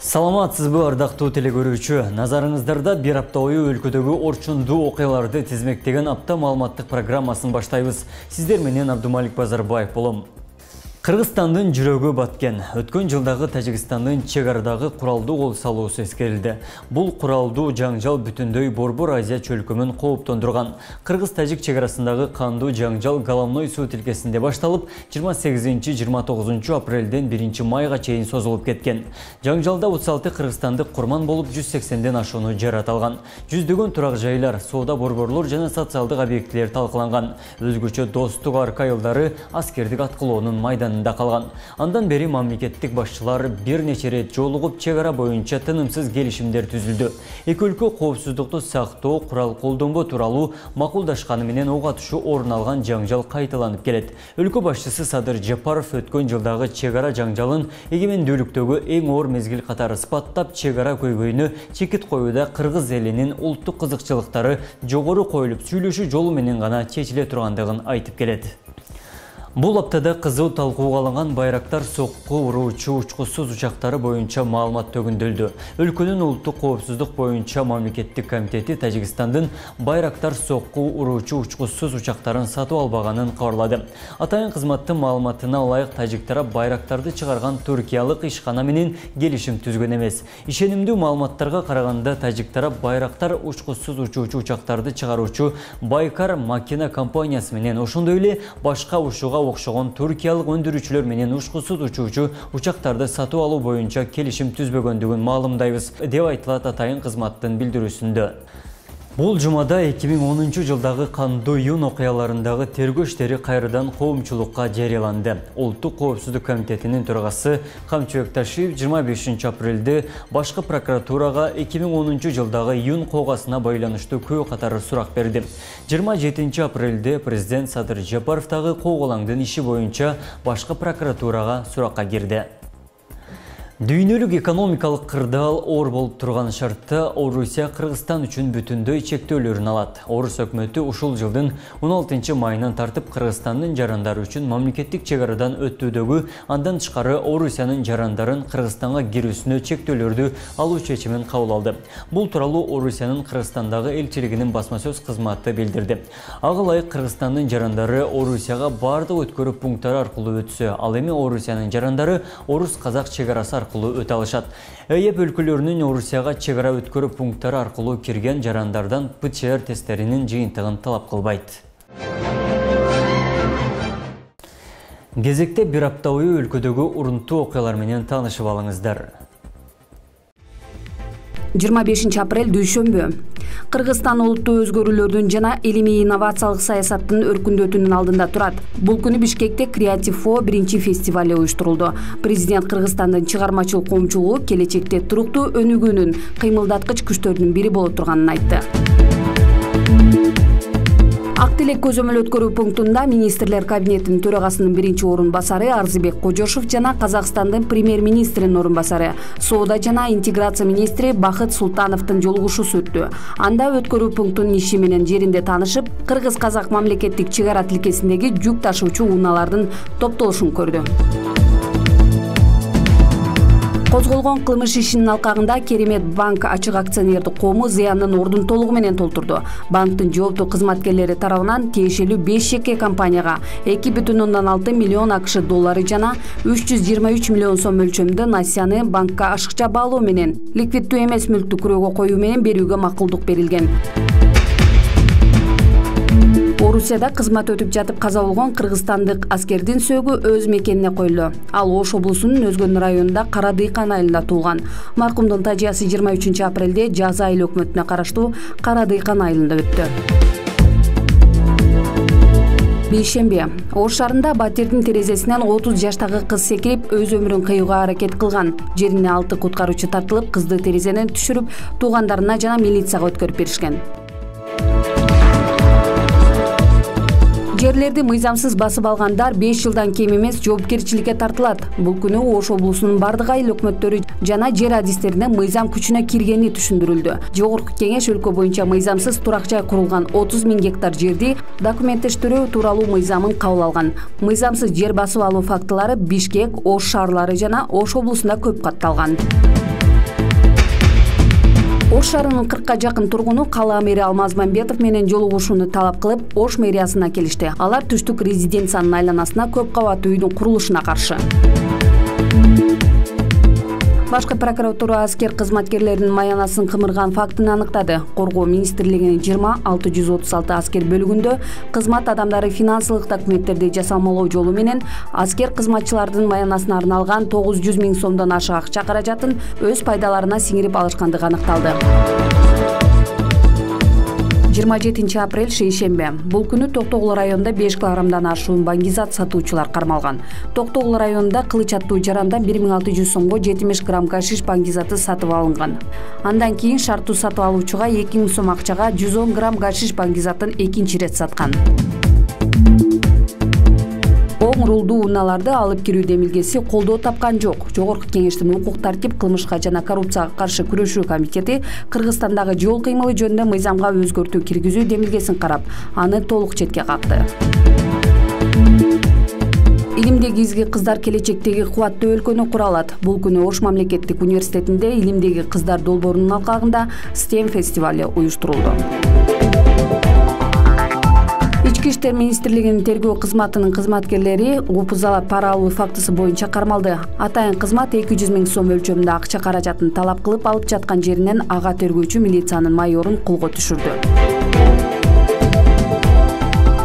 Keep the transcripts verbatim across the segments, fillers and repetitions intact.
Саламатсызбы, ардактуу телекөрүүчү. Назарыңыздарда бир апта бою өлкөдөгү орчундуу окуяларды тизмектеген апта маалыматтык программасын баштайбыз. Сиздер менен Абдумалик Базарбаев болом. Кыргызстандын жүрөгү баткен. Өткөн жылдагы Тажикстандын чек арадагы куралдуу кол салуусу эскерилди. Бул куралдуу жаңжал бүтүндөй Борбор Азия чөлкөмүн кооптондурган. Кыргыз-Тажик чек арасындагы кандуу жаңжал Головной суу тилкесинде башталып, жыйырма сегизинчи — жыйырма тогузунчу апрелден биринчи майга чейин созулуп кеткен. Жаңжалда отуз алты кыргызстандык курман болуп, жүз сексенден ашууну жараталган. Жүздөгөн турак жайлар, соода борборлор жана социалдык объектилер талкаланган. Өзгөчө достук арка айылдары аскердик аткылоонун майданында калган. Андан бери мамлекеттик башчылар бир нече рет жолугуп, чек ара боюнча тынымсыз келишимдер түзүлдү. Эки өлкө коопсуздукту сактоо, курал колдонбоо тууралуу макулдашканы менен ок атышуу орун алган жаңжал кайталанып келет. Өлкө башчысы Садыр Жапаров өткөн жылдагы чек ара жаңжалын эгемендүүлүктөгү эң оор мезгил катары сыпаттап, чек ара көйгөйүнө чекит коюуда кыргыз элинин улуттук кызыкчылыктары жогору коюлуп, сүйлөшүү жолу менен гана чечиле тургандыгын айтып келет. Бул аптада кызуу талкууга алынган Байрактар сокку уруучу учкучсуз учактары боюнча маалымат төгүндөлдү. Өлкөнүн улуттук коопсуздук боюнча мамлекеттик комитети Тажикстандын Байрактар сокку уруучу учкучсуз учактарын сатып албаганын кабарлады. Атайын кызматтын маалыматына ылайык, тажик тарап Байрактарды чыгарган туркиялык ишкана менен келишим түзгөн эмес. Ишенимдүү маалыматтарга караганда, тажик тарап Байрактар учкучсуз учуучу учактарды чыгаруучу Байкар макина компаниясы менен, ошондой эле башка ушуга окшогон туркиялык өндүрүүчүлөр менен учкучсуз учуучу учактарды сатып алуу боюнча келишим түзбөгөндүгүн маалымдайбыз, деп айтылат атайын кызматтын билдирүүсүндө. Бул жумада эки миң онунчу жылдагы кандуу июнь окуяларындагы тергөө иштери кайрадан коомчулукка жарыяланды. Улуттук коопсуздук комитетинин төрагасы Камчыбек Ташиев жыйырма бешинчи апрелде башкы прокуратурага эки миң онунчу жылдагы июнь коогасына байланыштуу көп катары сурак берди. жыйырма жетинчи апрелде президент Садыр Жапаровдагы кооголаңдын иши боюнча башкы прокуратурага суракка кирди. Дүйнөлүк экономикалык кырдаал оор болуп турган шартта Орусия Кыргызстан үчүн бүтүндөй чектөөлөрүн алат. Орус өкмөтү ушул жылдын он алтынчы майынан тартып Кыргызстандын жарандары үчүн мамлекеттик чек арадан өтүүдөгү, андан тышкары Орусиянын жарандарын Кыргызстанга кирүүсүнө чектөөлөрдү алуу чечимин кабыл алды. Бул тууралуу Орусиянын Кыргызстандагы элчилигинин басма сөз кызматы билдирди. Ага ылайык Кыргызстандын жарандары Орусияга бардык өткөрүү пункттары аркылуу өтсө, ал эми Орусиянын жарандары Орус-Казак чек арасы аркылуу өтө алышат. ЭЕП өлкөлөрүнүн Орусияга чек ара өткөрүү пункттары аркылуу кирген жарандардан ПЦР тесттеринин жыйынтыгын талап кылбайт. Кезекте бир апта бою өлкөдөгү урунттуу окуялар менен таанышып алыңыздар. жыйырма бешинчи апрель дүйшөмбү. Кыргызстан улуттуу өзгөрүүлөрдүн жана илимий инновациялык саясаттын өркүндөтүүнүн алдында турат. Бул күнү Бишкекте Креатив-Фо биринчи фестивали уюштурулду. Президент Кыргызстандын чыгармачылык коомчулугу келечекте туруктуу өнүгүүнүн кыймылдаткыч күчтөрүнүн бири боло турганын айтты. Ак тилек көзөмөл өткөрүү пунктунда министрлер кабинетинин төрагасынын биринчи орун басары Арзыбек Кожошов жана Казакстандын премьер-министринин орун басары, соода жана интеграция министри Бакыт Султановдун жолугушуусу өттү. Анда өткөрүү пунктунун иши менен жеринде таанышып, Кыргыз-Казак мамлекеттик чек ара тилкесиндеги жүк ташуучу унаалардын топтолушун көрдү. Козголгон кылмыш ишинин алкагында Керемет банк ачык акционердик коому зыяндын ордун толугу менен толтурду. Банктын жооптуу кызматкерлери тарабынан тиешелүү беш жеке компанияга эки бүтүн ондон алты миллион АКШ доллары жана үч жүз жыйырма үч миллион сом өлчөмдө насыяны банкка ашыкча баалоо менен ликвиддүү эмес мүлктү күрөөгө коюу менен берүүгө макулдук берилген. Орусияда кызмат өтүп жатып каза болгон кыргызстандык аскердин сөөгү өз мекенине коюлду. Ал Ош облусунун Өзгөн районунда Кара Дыйкан айылында туулган. Маркумдун тажыясы жыйырма үчүнчү апрелде Жазы айыл өкмөтүнө караштуу Кара Дыйкан айылында өттү. Бейшемби. Ош шаарында батирдин терезесинен отуз жаштагы кыз секирип, өз өмүрүн кыюуга аракет кылган. Жерине алты куткаруучу тартылып, кызды терезеден түшүрүп, туугандарына жана милицияга өткөрүп беришкен. Жерлерди мыйзамсыз басып алгандар беш жылдан кем эмес жоопкерчиликке тартылат. Бул күнү Ош облусунун бардык айыл өкмөттөрү жана жер адистерине мыйзам күчүнө киргени түшүндүрүлдү. Жогорку кеңеш өлкө боюнча мыйзамсыз турак жай курулган отуз миң гектар жерди документтештирүү тууралуу мыйзамын кабыл алган. Мыйзамсыз жер басып алуу фактылары Бишкек, Ош шаарлары жана Ош облусунда көп катталган. Ош шаарынын кыркка жакын тургуну кала мэри Алмаз Мамбетов менен жолугушууну талап кылып, Ош мэриясына келишти. Алар түштүк резиденциянын айланасына көп кабаттуу үйдүн курулушуна каршы. Башкы прокуратура аскер кызматкерлеринин маянасын кымырган фактын аныктады. Коргоо министрлигинин жыйырма алты жүз отуз алты аскер бөлүгүндө кызмат адамдары финансылык документтерди жасалмалоо жолу менен аскер кызматчылардын маянасына арналган тогуз жүз миң сомдон ашык акча каражатын өз пайдаларына сиңирип алышкандыгы аныкталды. жыйырма жетинчи апрель шейшембе. Бул күнү Токтогул районунда беш килограммдан ашуун баңгизат сатуучулар кармалган. Токтогул районунда кылыч аттуу жарандан бир миң алты жүз сомго жетимиш грамм гашиш баңгизаты сатып алынган. Андан кийин шарттуу сатып алуучуга эки миң сом акчага жүз он грамм гашиш баңгизатын экинчи ирет саткан. Оң рулдуу унааларды алып кирүү демилгеси колдоо тапкан жок. Жогорку кеңештин укук тартип, кылмышка жана коррупцияга каршы күрөшүү комитети Кыргызстандагы жол кыймылы жөнүндө мыйзамга өзгөртүү киргизүү демилгесин карап, аны толук четке какты. Илимдеги изги кыздар келечектеги кубаттуу өлкөнү кура алат. Бул күнү Ош мамлекеттик университетинде Илимдеги кыздар долбоорунун алкагында стем фестивали уюштурулду. Ички иштер министрлигинин тергөө кызматынын кызматкерлери УПЗала пара алуу фактысы боюнча кармалды. Атайын кызмат эки жүз миң сом өлчөмүндө акча каражатын талап кылып алып жаткан жеринен ага тергөөчү милициянын майорун колго түшүрдү.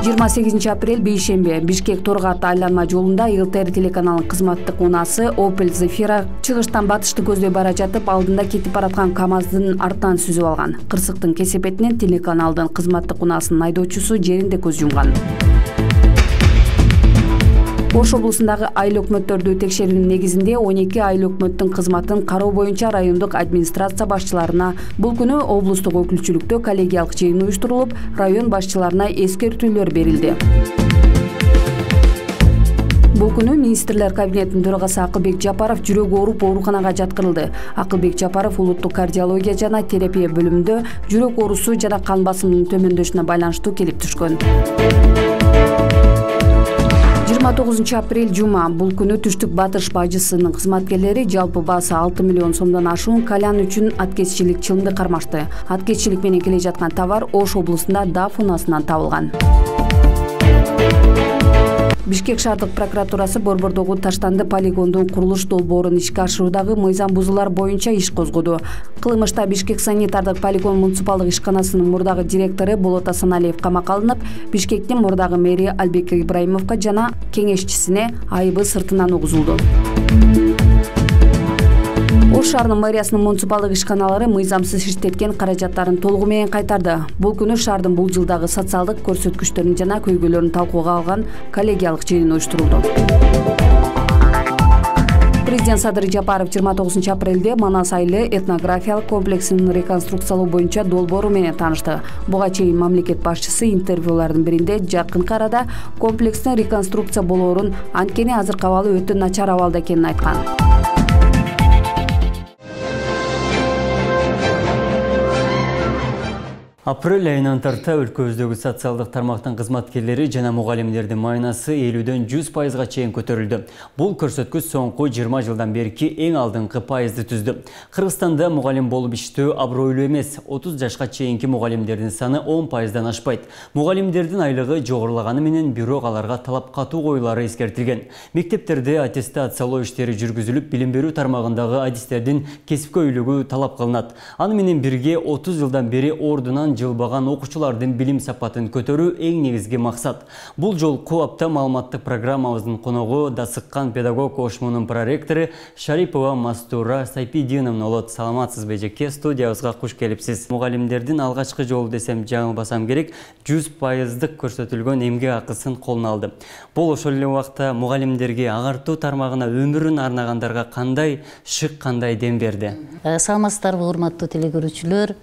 жыйырма сегизинчи апрель бейшембе. Бишкек Торгат айланма жолунда ИЛТР телеканалынын кызматтык унасы Opel Zafira чыгыштан батышты көздөй бара жатып, алдында кетип бараткан КАМАЗдын артынан сүзүп алган. Кырсыктын кесепетинен телеканалдын кызматтык унасынын айдоочусу жеринде көз жумган. Ош облусундагы айыл өкмөттөрдү текшерүүнүн негизинде он эки айыл өкмөттүн кызматын кароо боюнча райондук администрация башчыларына бул күнү облустук өкүлчүлүктө коллегиялык жыйын уюштурулуп, район башчыларына эскертүүлөр берилди. Бул күнү министрлер кабинетинин төрагасы Акылбек Жапаров жүрөгү ооруп ооруканага жаткырылды. Акылбек Жапаров улуттук кардиология жана терапия бөлүмүндө жүрөк оорусу жана кан басымынын төмөндөшүнө байланыштуу келип түшкөн. жыйырма тогузунчу апрель жума. Бул күнү Түштүк Батыш бажысынын кызматкерлери жалпы баасы алты миллион сомдон ашуун кальян үчүн аткезчилик чылымды кармашты. Аткезчилик менен келе жаткан товар Ош облусунда Даф унасынан табылган. Бишкек шаардык прокуратурасы Борбордогу Таштанды полигондун курулуш долбоорун ишке ашыруудагы мыйзам бузуулар боюнча иш козгоду. Кылмышта Бишкек санитардык полигон муниципалдык ишканасынын мурдагы директору Болот Асаналиев камакка алынып, Бишкектин мурдагы мэри Албек Ибраимовго жана кеңешчисине айыбы сыртынан угузулду. Ош шаарынын мэриясынын муниципалдык ишканалары мыйзамсыз иштеткен каражаттарын толугу менен кайтарды. Бул күнү шаардын бул жылдагы социалдык көрсөткүчтөрүн жана көйгөйлөрүн талкууга алган коллегиялык жыйын уюштурулду. Президент Садыр Жапаров жыйырма тогузунчу апрелде Манас айылы этнографиялык комплексинин реконструкциялоо боюнча долбоору менен таанышты. Буга чейин мамлекет башчысы интервьюлардын биринде жакынкы арада комплекстин реконструкция болоорун, анткени азыркы абалы өтө начар абалда экенин айткан. Апрель айынан тарта өлкөбүздөгү социалдык тармактын кызматкерлери жана мугалимдердин маянасы элүүдөн жүз пайызга чейин көтөрүлдү. Бул көрсөткүч соңку жыйырма жылдан берки эң алдыңкы пайызды түздү. Кыргызстанда мугалим болуп иштөө абройлуу эмес. отуз жашка чейинки мугалимдердин саны он пайыздан ашпайт. Мугалимдердин айлыгы жогорулаганы менен бирок аларга талап катуу коюлары эскертилген. Мектептерде аттестациялоо иштери жүргүзүлүп, билим берүү тармагындагы адистердин кесипкөйлүгү талап кылынат. Аны менен бирге отуз жылдан бери ордунан жылбаган окуучулардын билим сапатын көтөрүү эң негизги максат. Бул жолку апта маалыматтык программабыздын коногу Дасыккан педагог кошмунун проректору Шарипова Мастура Сайпидиновна болот. Саламатсызбы эжеке, студиябызга куш келипсиз. Мугалимдердин алгачкы жолу десем жаңылбасам керек, жүз пайыздык көрсөтүлгөн эмгек акысын колуна алды. Бул ошол эле убакта мугалимдерге агартуу тармагына өмүрүн арнагандарга кандай шык, кандай дем берди? Саламатсыздарбы, урматтуу телекөрүүчүлөр.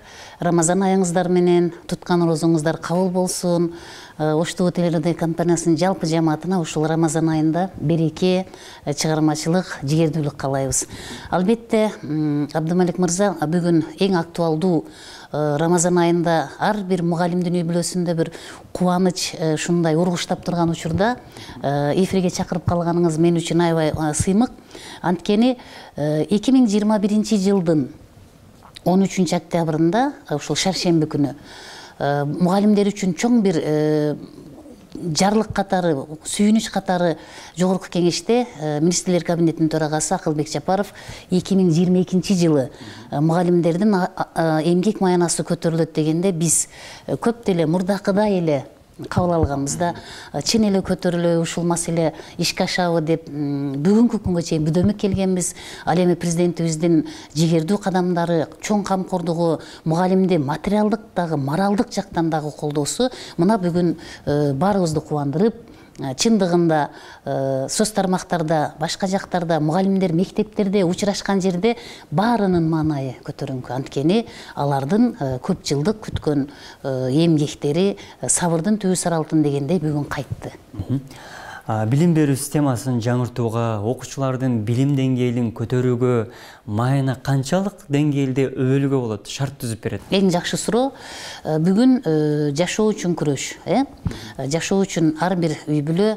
Рамазан айыңыздар менен туткан розоңуздар кабыл болсун. Ош ТВ телерадио компаниясынын жалпы жамаатына ушул Рамазан айында береке, чыгармачылык, жигердүүлүк каалайбыз. Албетте, Абдымалик мырза, бүгүн эң актуалдуу Рамазан айында ар бир мугалимдин үй бүлөсүндө бир кубаныч ушундай ургуштап турган учурда эфирге чакырып калганыңыз мен үчүн аябай сыймык. Анткени эки миң жыйырма биринчи жылдын он үчүнчү октябрында ушул шаршемби күнү мугалимдер үчүн чоң бир жарлык катары, сүйүнүч катары жогорку кеңеште министрлер кабинетинин төрагасы Акылбек Жапаров эки миң жыйырма экинчи жылы мугалимдердин эмгек маянасы көтөрүлөт дегенде биз көп деле мурдакыдай эле кабыл алганбыз да, чын эле көтөрүлөбү ушул маселе ишке ашабы деп бүгүнкү күнгө чейин бүдөмүк келгенбиз. Ал эми президентибиздин жигердүү кадамдары, чоң камкордугу, мугалимди материалдык дагы, моралдык жактан дагы колдоосу мына бүгүн баарыбызды кубандырып, чындыгында соц тармактарда, башка жактарда мугалимдер мектептерде учурашкан жерде баарынын маанайы көтөрүңкү. Анткени алардын көп жылдык күткөн эмгектери сабырдын түбү сыр алтын дегендей бүгүн кайтты. Билим берүү системасын жаңыртууга, окуучулардын билим деңгээлин көтөрүүгө майына канчалык деңгээлде өбөлүүгө болот, шарт түзүп берет? Эң жакшы суроо. Бүгүн жашоо үчүн күрөш, э? Жашоо үчүн ар бир үй бүлө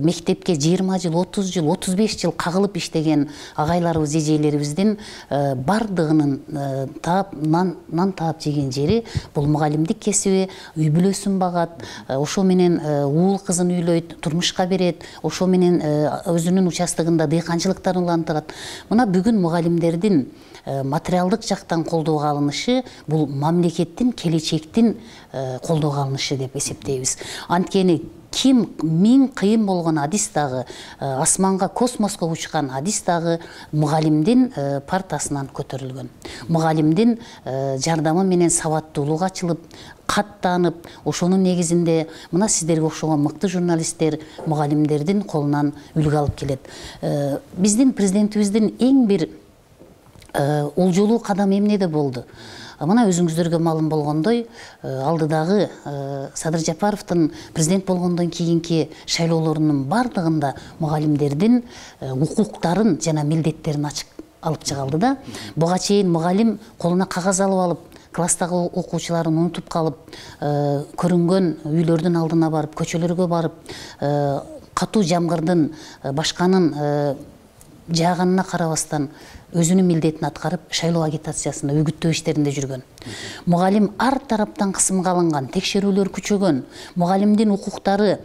мектепке жыйырма жыл, отуз жыл, отуз беш жыл кагылып иштеген агайларыбыз, эжелерибиздин бардыгынын таап, нан таап жеген жери бул мугалимдик кесиби, үй бүлөсүн багат, ошо менен уул кызын үйлөйт, турмушка берет, ошо менен өзүнүн участогунда дыйканчылыктарын улантырат. Мына бүгүн мугалимдердин материалдык жактан колдоого алынышы бул мамлекеттин, келечектин колдоого алынышы деп эсептейбиз. Анткени ким миң кыйын болгон адис дагы, асманга, космоско учкан адис дагы мугалимдин партасынан көтөрүлгөн. Мугалимдин жардамы менен сабаттуулук ачылып, каттанып, ошонун негизинде мына сиздерге окшогон мыкты журналисттер мугалимдердин колунан үлгү алып келет. Биздин президентибиздин эң бир олжолуу кадамы эмнеде болду? Мына өзүңүздөргө маалым болгондой, алдыдагы Садыр Жапаровдун президент болгондон кийинки шайлоолорунун бардыгында мугалимдердин укуктарын жана милдеттерин ачык алып чыгалды да. Буга чейин мугалим колуна кагаз алып алып, класстагы окуучуларын унутуп калып, көрүнгөн үйлөрдүн алдына барып, көчөлөргө барып, катуу жамгырдын башканын жааганына карабастан өзүнүн милдетин аткарып, шайлоо агитациясында, үгүттөө иштеринде жүргөн. Мугалим ар тараптан кысымга алынган, текшерүүлөр күчөгөн, мугалимдин укуктары,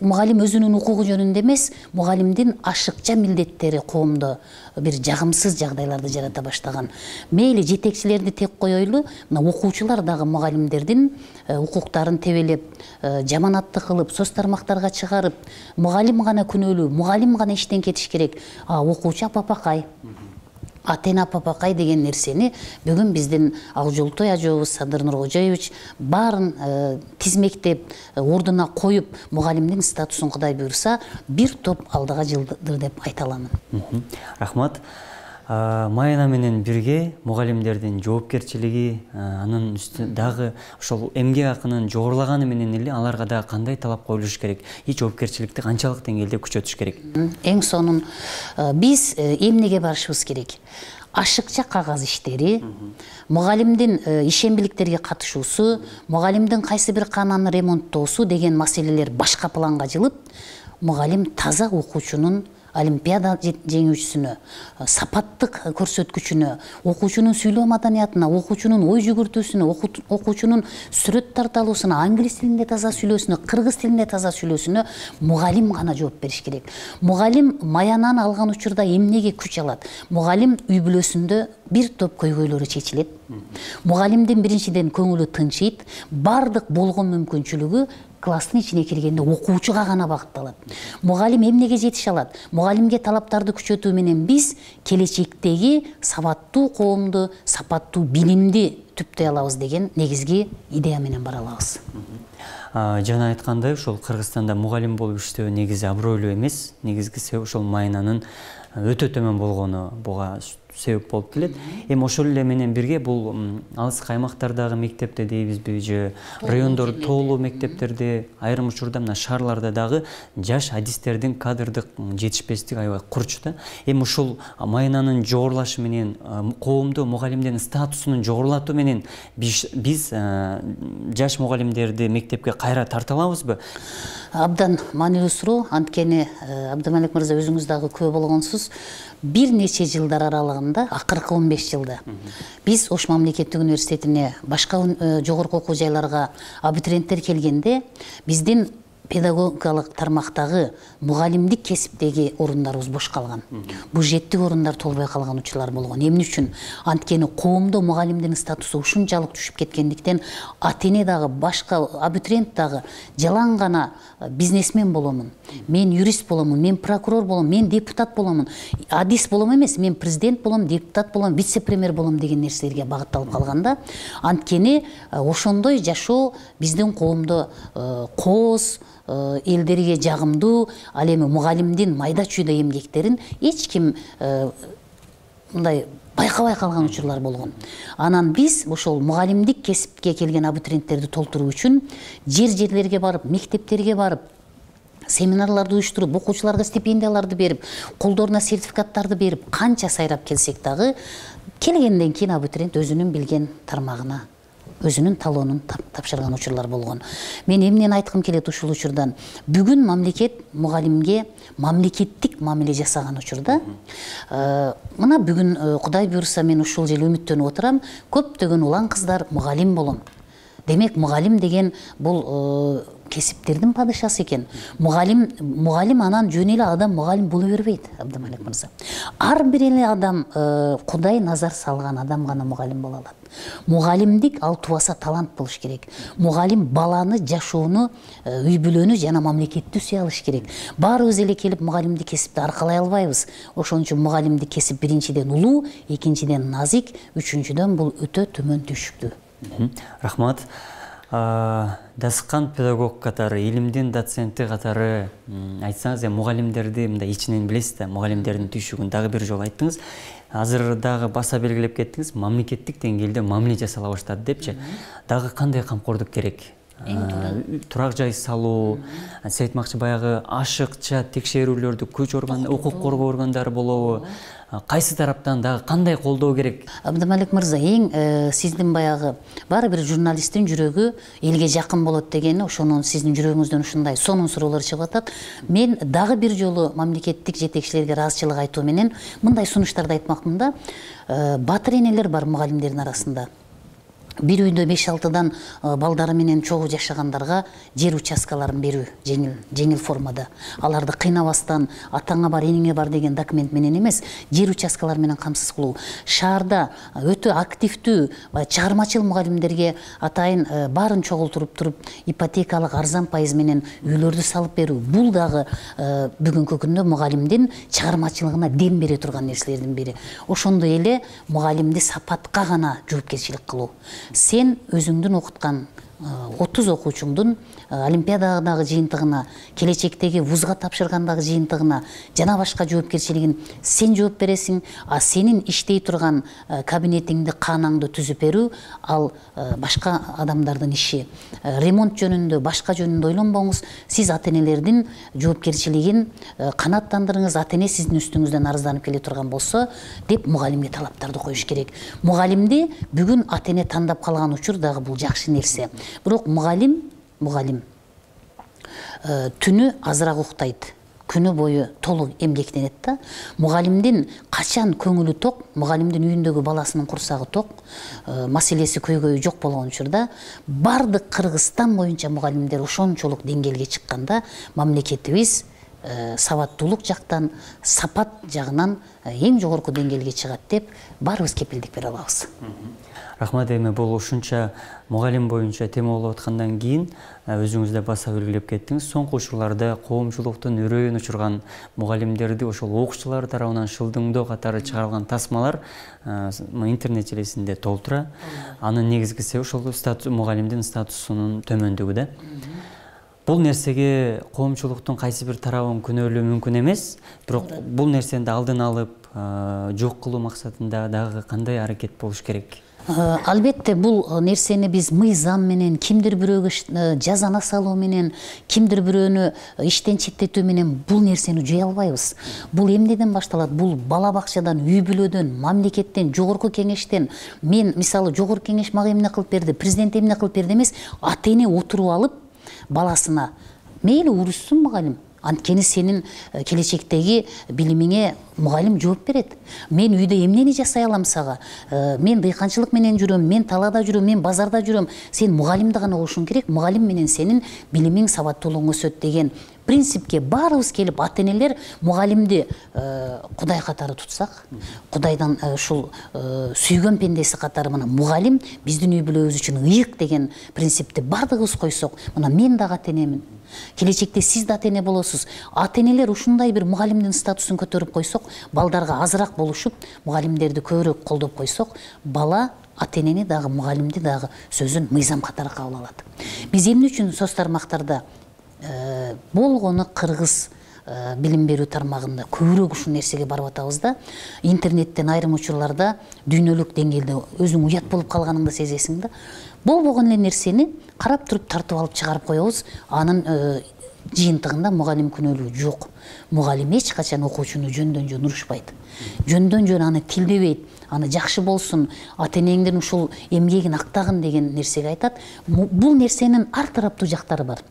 мугалим өзүнүн укугу жөнүндө эмес, мугалимдин ашыкча милдеттери коомдо бир жагымсыз жагдайларды жарата баштаган. Мейли жетекчилерди тек коелу, мына окуучулар дагы мугалимдердин укуктарын тебелеп, жаманатты кылып, соц тармактарга чыгарып, мугалим гана күнөөлүү, мугалим гана иштен кетиш керек, а окуучу апапакай, атена апапакай деген нерсени бүгүн биздин Акжолтой ажообуз Садыр Нуркожоевич баарын тизмектеп, ордуна коюп, мугалимдин статусун Кудай буйрса, бир топ алдыга жылдыр деп айта аламын. Рахмат. Майына менен бирге мугалимдердин жоопкерчилиги, анын үстү дагы ошол эмгек акынын жогорулаганы менен эле аларга да кандай талап коюлуш керек? И жоопкерчиликти канчалык деңгээлде күчөтүш керек? Эң сонун биз эмнеге барышыбыз керек? Ашыкча кагаз иштери, мугалимдин ишембиликтерге катышуусу, мугалимдин кайсы бир кананы ремонттоосу деген маселелер башка планга жылып, мугалим таза окуучунун олимпиада жеңүүчүсүнө, сапаттык көрсөткүчүнө, окуучунун сүйлөө маданиятына, окуучунун ой жүгүртүүсүнө, окуучунун сүрөт тарталуусуна, англис тилинде таза сүйлөөсүнө, кыргыз тилинде таза сүйлөөсүнө мугалим гана жооп бериш керек. Мугалим маянаны алган учурда эмнеге күч алат? Мугалим үй бүлөсүндө бир топ көйгөйлөрү чечилет. Мугалимдин биринчиден көңүлү тынчыйт, бардык болгон мүмкүнчүлүгү класстын ичине киргенде окуучуга гана багытталат. Мугалим эмнеге жетише алат? Мугалимге талаптарды күчөтүү менен биз келечектеги сабаттуу коомду, сапаттуу билимди түптөй алабыз деген негизги идея менен бара алабыз. Жана айткандай, ошол Кыргызстанда мугалим болуп иштөө негизи абройлуу эмес, негизги себеп ошол майынанын өтө төмөн болгону буга себеп болуп келет. Эми ошол эле менен бирге бул алыс аймактардагы мектепте дейбизби, же райондор тоолуу мектептерде, айрым учурда мына шаарларда дагы жаш адистердин кадрдык жетишпестиги аябай курч да. Эми ушул майынанын жогорулашы менен, коомдо мугалимдердин статусунун жогорулатуу менен биз жаш мугалимдерди мектепке кайра тарта алабызбы? Абдан маанилүү суроо. Анткени Абдымалик мырза өзүңүз дагы күбө болгонсуз. болсоңуз бир нече жылдар аралыгында, акыркы он беш жылда биз Ош мамлекеттик университетине, башка жогорку окуу жайларга абитуриенттер келгенде биздин педагогикалык тармактагы мугалимдик кесиптеги орундарыбыз бош калган. Бюджеттик орундар толбой калган учурлар болгон. Эмне үчүн? Анткени коомдо мугалимдин статусу ушунчалык түшүп кеткендиктен ата-эне дагы, башка абитуриент дагы жалаң гана бизнесмен боломун, мен юрист боломун, мен прокурор боломун, мен депутат боломун, адис болом эмес, мен президент болом, депутат болом, вице-премьер болом деген нерселерге багытталып калганда, анткени ошондой жашоо биздин коомдо кооз, элдерге жагымдуу, ал эми мугалимдин майда чүйдө эмгектерин эч ким мындай байкабай калган учурлар болгон. Анан биз ошол мугалимдик кесипке келген абитуриенттерди толтуруу үчүн жер-жерлерге барып, мектептерге барып, семинарларды уюштуруп, окуучуларга стипендияларды берип, колдоруна сертификаттарды берип, канча сайрап келсек дагы, келгенден кийин абитуриент өзүнүн билген тармагына өзүнүн талоонун тапшырган учурлар болгон. Мен эмнени айткым келет ушул учурдан? Бүгүн мамлекет мугалимге мамлекеттик мамиле жасаган учурда, мына бүгүн Кудай буйруса мен ушул жыл үмүттөнүп отурам, көптөгөн улан кыздар мугалим болом. Демек мугалим деген бул кесиптердин падышасы экен. Мугалим, мугалим анан жөн эле адам мугалим боло бербейт, Абдымалик мырза. Ар бир эле адам, Кудай назар салган адам гана мугалим боло алат. Мугалимдик ал тубаса талант болуш керек. Мугалим баланы, жашоону, үй бүлөнү жана мамлекетти сүйө алыш керек. Баарыбыз эле келип мугалимдик кесипти аркалай албайбыз. Ошон үчүн мугалимдик кесип биринчиден улуу, экинчиден назик, үчүнчүдөн бул өтө төмөн түшүктүү. Рахмат. Дасыккан педагог катары, илимдин доценти катары айтсаңыз, мугалимдерди мындай ичинен билесиз да, мугалимдердин түйшүгүн дагы бир жолу айттыңыз. Азыр дагы баса белгилеп кеттиңиз, мамлекеттик деңгээлде мамиле жасала баштады депчи. Дагы кандай камкордук керек? Турак жай салуу, сиз айтмакчы баягы ашыкча текшерүүлөрдү күч орган, укук коргоо органдары болобу? Кайсы тараптан дагы кандай колдоо керек? Абдымалик мырза, эң сиздин баягы баары бир журналисттин жүрөгү элге жакын болот дегени, ошонун сиздин жүрөгүңүздөн ушундай сонун суроолор чыгып атат. Мен дагы бир жолу мамлекеттик жетекчилерге ыраазычылык айтуу менен мындай сунуштарды айтмакмын да. Батыр энелер бар мугалимдердин арасында. Бир үйдө беш алтыдан балдары менен чогуу жашагандарга жер участкаларын берүү жеңил, жеңил формада. Аларды кыйнабастан атаңа бар, энеңе бар деген документ менен эмес, жер участкалары менен камсыз кылуу. Шаарда өтө активдүү чыгармачыл мугалимдерге атайын баарын чогултуруп туруп, ипотекалык арзан пайыз менен үйлөрдү салып берүү. Бул дагы бүгүнкү күндө мугалимдин чыгармачылыгына дем бере турган нерселердин бири. Ошондой эле мугалимди сапатка гана жоопкерчилик кылуу. Сен өзүңдүн окуткан отуз окуучуңдун олимпиададагы жыйынтыгына, келечектеги вузга тапшыргандагы жыйынтыгына жана башка жоопкерчилигин сен жооп бересиң, а сенин иштей турган кабинетиңди, каанаңды түзүп берүү ал башка адамдардын иши. Ремонт жөнүндө, башка жөнүндө ойлонбоңуз. Сиз ата-энелердин жоопкерчилигин канааттандырыңыз. Ата-эне сиздин үстүңүздөн арызданып келе турган болсо, деп мугалимге талаптарды коюш керек. Мугалимди бүгүн ата-эне тандап калган учур дагы бул жакшы нерсе. Бирок мугалим, мугалим түнү азыраак уктайт, күнү бою толук эмгектенет да. Мугалимдин качан көңүлү ток, мугалимдин үйүндөгү баласынын курсагы ток, маселеси көйгөйү жок болгон учурда бардык Кыргызстан боюнча мугалимдер ошончолук деңгээлге чыкканда, мамлекетибиз сабаттуулук жактан, сапат жагынан эң жогорку деңгээлге чыгат деп баарыбыз кепилдик бере алабыз. Рахмат, эми бул ушунча мугалим боюнча тема болуп аткандан кийин өзүңүз да баса белгилеп кеттиңиз. Соңку учурларда коомчулуктун үрөйүн учурган мугалимдерди ошол окуучулар тарабынан шылдыңдоо катары чыгарылган тасмалар интернет желесинде толтура. Анын негизги себеби ошол статус, мугалимдин статусунун төмөндүгү да. Бул нерсеге коомчулуктун кайсы бир тарабын күнөөлөө мүмкүн эмес, бирок бул нерсени алдын алып жок кылуу максатында дагы кандай аракет болуш керек? Албетте бул нерсени биз мыйзам менен, кимдир бирөөгө жазана салуу менен, кимдир бирөөнү иштен четтетүү менен бул нерсени жое албайбыз. Бул эмнеден башталат? Бул бала бакчадан, үй бүлөдөн, мамлекеттен, жогорку кеңештен. Мен мисалы жогорку кеңеш мага эмне кылып берди, президент эмне кылып берди эмес, ата-эне отуруп алып баласына мейли урушсун мугалим, Анткени сенин келечектеги билимиңе мугалим жооп берет. Мен үйдө эмнени жасай алам сага? Мен дыйканчылык менен жүрөм, мен талаада жүрөм, мен базарда жүрөм. Сен мугалимди гана болушуң керек. Мугалим менен сенин билимиң, сабаттуулугуң өсөт деген принципке баарыбыз келип, ата-энелер мугалимди Кудай катары тутсак, Кудайдан ушул сүйгөн пендеси катары мына мугалим биздин үй бүлөбүз үчүн ыйык деген принципти бардыгыбыз койсок, мына мен дагы ата-энемин. Келечекте сиз да ата-эне болосуз. Ата-энелер ушундай бир мугалимдин статусун көтөрүп койсок, балдарга азыраак болушуп, мугалимдерди көбүрөөк колдоп койсок, бала ата-энени дагы, мугалимди дагы сөзүн мыйзам катары кабыл алат. Биз эмне үчүн соц тармактарда болгону кыргыз билим берүү тармагында көбүрөөк ушул нерсеге барып атабыз да, интернеттен айрым учурларда дүйнөлүк деңгээлде өзүң уят болуп калганыңды сезесиң да. Болбогон эле нерсени карап туруп тартып алып чыгарып коебуз. Анын жыйынтыгында мугалим күнөөлүү жок. Мугалим эч качан окуучуну жөндөн жөн урушпайт. Жөндөн жөн аны тилдебейт. Аны жакшы болсун, ата-энеңдин ушул эмгегин актагын деген нерсеге айтат. Бул нерсенин ар тараптуу жактары бар.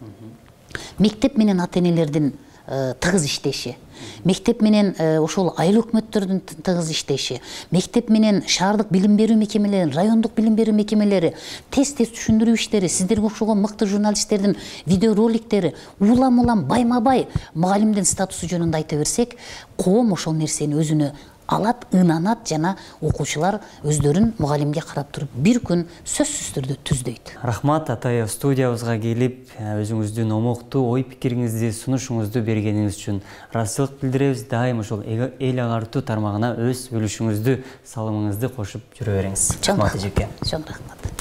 Мектеп менен ата-энелердин тыгыз иштеши, мектеп менен ошол айыл өкмөттөрдүн тыгыз иштеши, мектеп менен шаардык билим берүү мекемелери, райондук билим берүү мекемелери, тез-тез түшүндүрүү иштери, сиздерге окшогон мыкты журналисттердин видеороликтери улам-улам байма-бай мугалимдин статусу жөнүндө айта берсек, коом ошол нерсени өзүнө алат, ынанат жана окуучулар өздөрүн мугалимге карап туруп бир күн сөзсүз түрдө түздөйт. Рахмат Атаев, студиябызга келип, өзүңүздүн омоктуу ой пикириңизди, сунушуңузду бергениңиз үчүн ыраазычылык билдиребиз. Дайым ошол эл агартуу тармагына өз үлүшүңүздү, салымыңызды кошуп жүрө бериңиз. Рахмат эжеке. Чоң рахмат.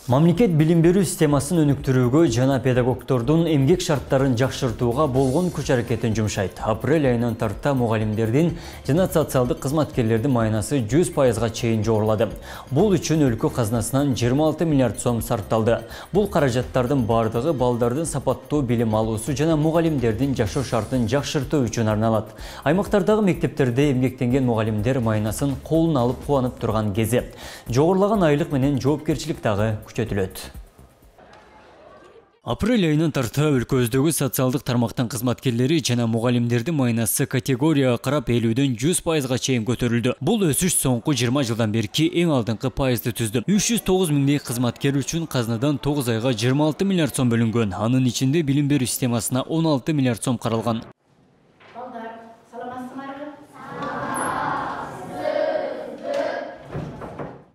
Мамлекет билим берүү системасын өнүктүрүүгө жана педагогдордун эмгек шарттарын жакшыртууга болгон күч аракетин жумшайт. Апрель айынан тарта мугалимдердин жана социалдык кызматкерлердин майнасы жүз пайызга чейин жогорулады. Бул үчүн өлкө казынасынан жыйырма алты миллиард сом сарпталды. Бул каражаттардын бардыгы балдардын сапаттуу билим алуусу жана мугалимдердин жашоо шартын жакшыртуу үчүн арналат. Аймактардагы мектептерде эмгектенген мугалимдер майнасын колуна алып кубанып турган кези. Жогорулаган айлык менен жоопкерчилик дагы күчөтүлөт. Апрель айынан тарта өлкөбүздөгү социалдык тармактын кызматкерлери жана мугалимдердин майнасы категорияга карап элүүдөн жүз пайызга чейин көтөрүлдү. Бул өсүш соңку жыйырма жылдан берки эң алдыңкы пайызды түздү. үч жүз тогуз миңдей кызматкер үчүн казынадан тогуз айга жыйырма алты миллиард сом бөлүнгөн. Анын ичинде билим берүү системасына он алты миллиард сом каралган.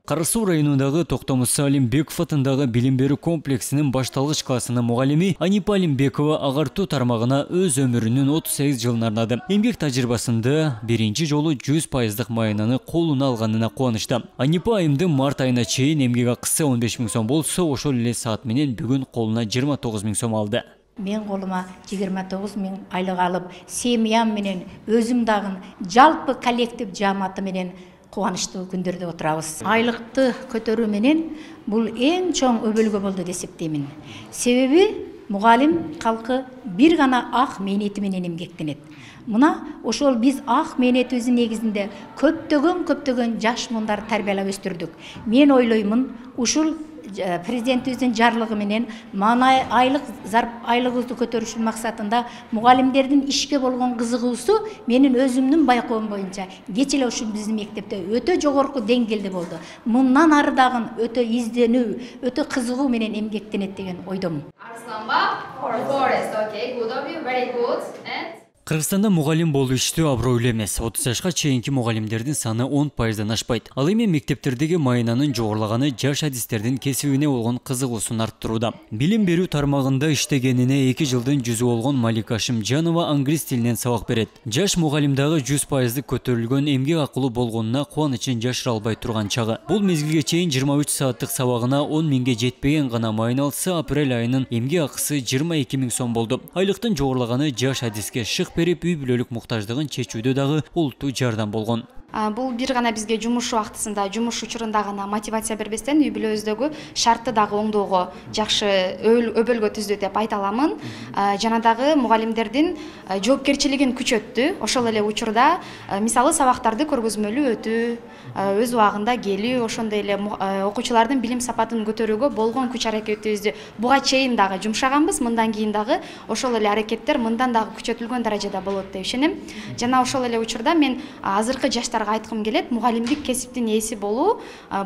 Кара Суу районундагы Токтомуса Алимбеков атындагы билим берүү комплексинин башталгыч классынын мугалими Анипа Алимбекова агартуу тармагына өз өмүрүнүн отуз сегиз жылын ардады. Эмгек тажрыйбасында биринчи жолу жүз пайыздык майнаны колуна алганына кубанычта. Анипа айымдын март айына чейин эмгек акысы он беш миң сом болсо, ошол эле саат менен бүгүн колуна жыйырма тогуз миң сом алды. Мен колума жыйырма тогуз миң айлык алып, семьям менен өзүм дагы жалпы коллектив жааматы менен кубанычтуу күндөрдө отурабыз. Айлыкты көтөрүү менен бул эң чоң өбөлгө болду деп эсептеймин. Себеби мугалим калкы бир гана ак мээнети менен эмгектенет. Мына ошол биз ак мээнетибиздин негизинде көптөгөн көптөгөн жаш мундар тарбиялап өстүрдүк. Мен ойлоймун, ушул президентибиздин жарлыгы менен мана айлык айлыгыбызды көтөрүшүн максатында мугалимдердин ишке болгон кызыгуусу менин өзүмдүн байкоом боюнча кеч эле ушул биздин мектепте өтө жогорку деңгээлде болду. Мындан ары дагы өтө изденүү, өтө кызыгуу менен эмгектенет деген ойдомун. Кыргызстанда мугалим болуу иштөө абройлуу эмес. отуз жашка чейинки мугалимдердин саны он пайыздан ашпайт. Ал эми мектептердеги майнанын жогорулаганы жаш адистердин кесибине болгон кызыгуусун арттырууда. Билим берүү тармагында иштегенине эки жылдын жүзү болгон Малика Ашимжанова англис тилинен сабак берет. Жаш мугалим дагы жүз пайыздык көтөрүлгөн эмгек акылуу болгонуна кубанычын жашыра албай турган чагы. Бул мезгилге чейин жыйырма үч сааттык сабагына он миңге жетпеген гана майна алса, апрель айынын эмгек акысы жыйырма эки миң сом болду. Айлыктын жогорулаганы жаш адиске шык берип, үй бүлөлүк муктаждыгын чечүүдө дагы олуттуу жардам болгон. Бул бир гана бизге жумуш убактысында, жумуш учурунда гана мотивация бербестен үй бүлөбүздөгү шартты дагы оңдоого, жакшы өбөлгө түздү деп айта аламын. Жана дагы мугалимдердин жоопкерчилигин күчөттү. Ошол эле учурда мисалы сабактарды көргөзмөлүү өтүү, өз убагында келүү, ошондой эле окуучулардын билим сапатын көтөрүүгө болгон күч аракетибизди буга чейин дагы жумшаганбыз. Мындан кийин дагы ошол эле аракеттер мындан дагы күчөтүлгөн даражада болот деп ишенем. Жана ошол эле учурда мен азыркы жаштарга айткым келет, мугалимдик кесиптин ээси болуу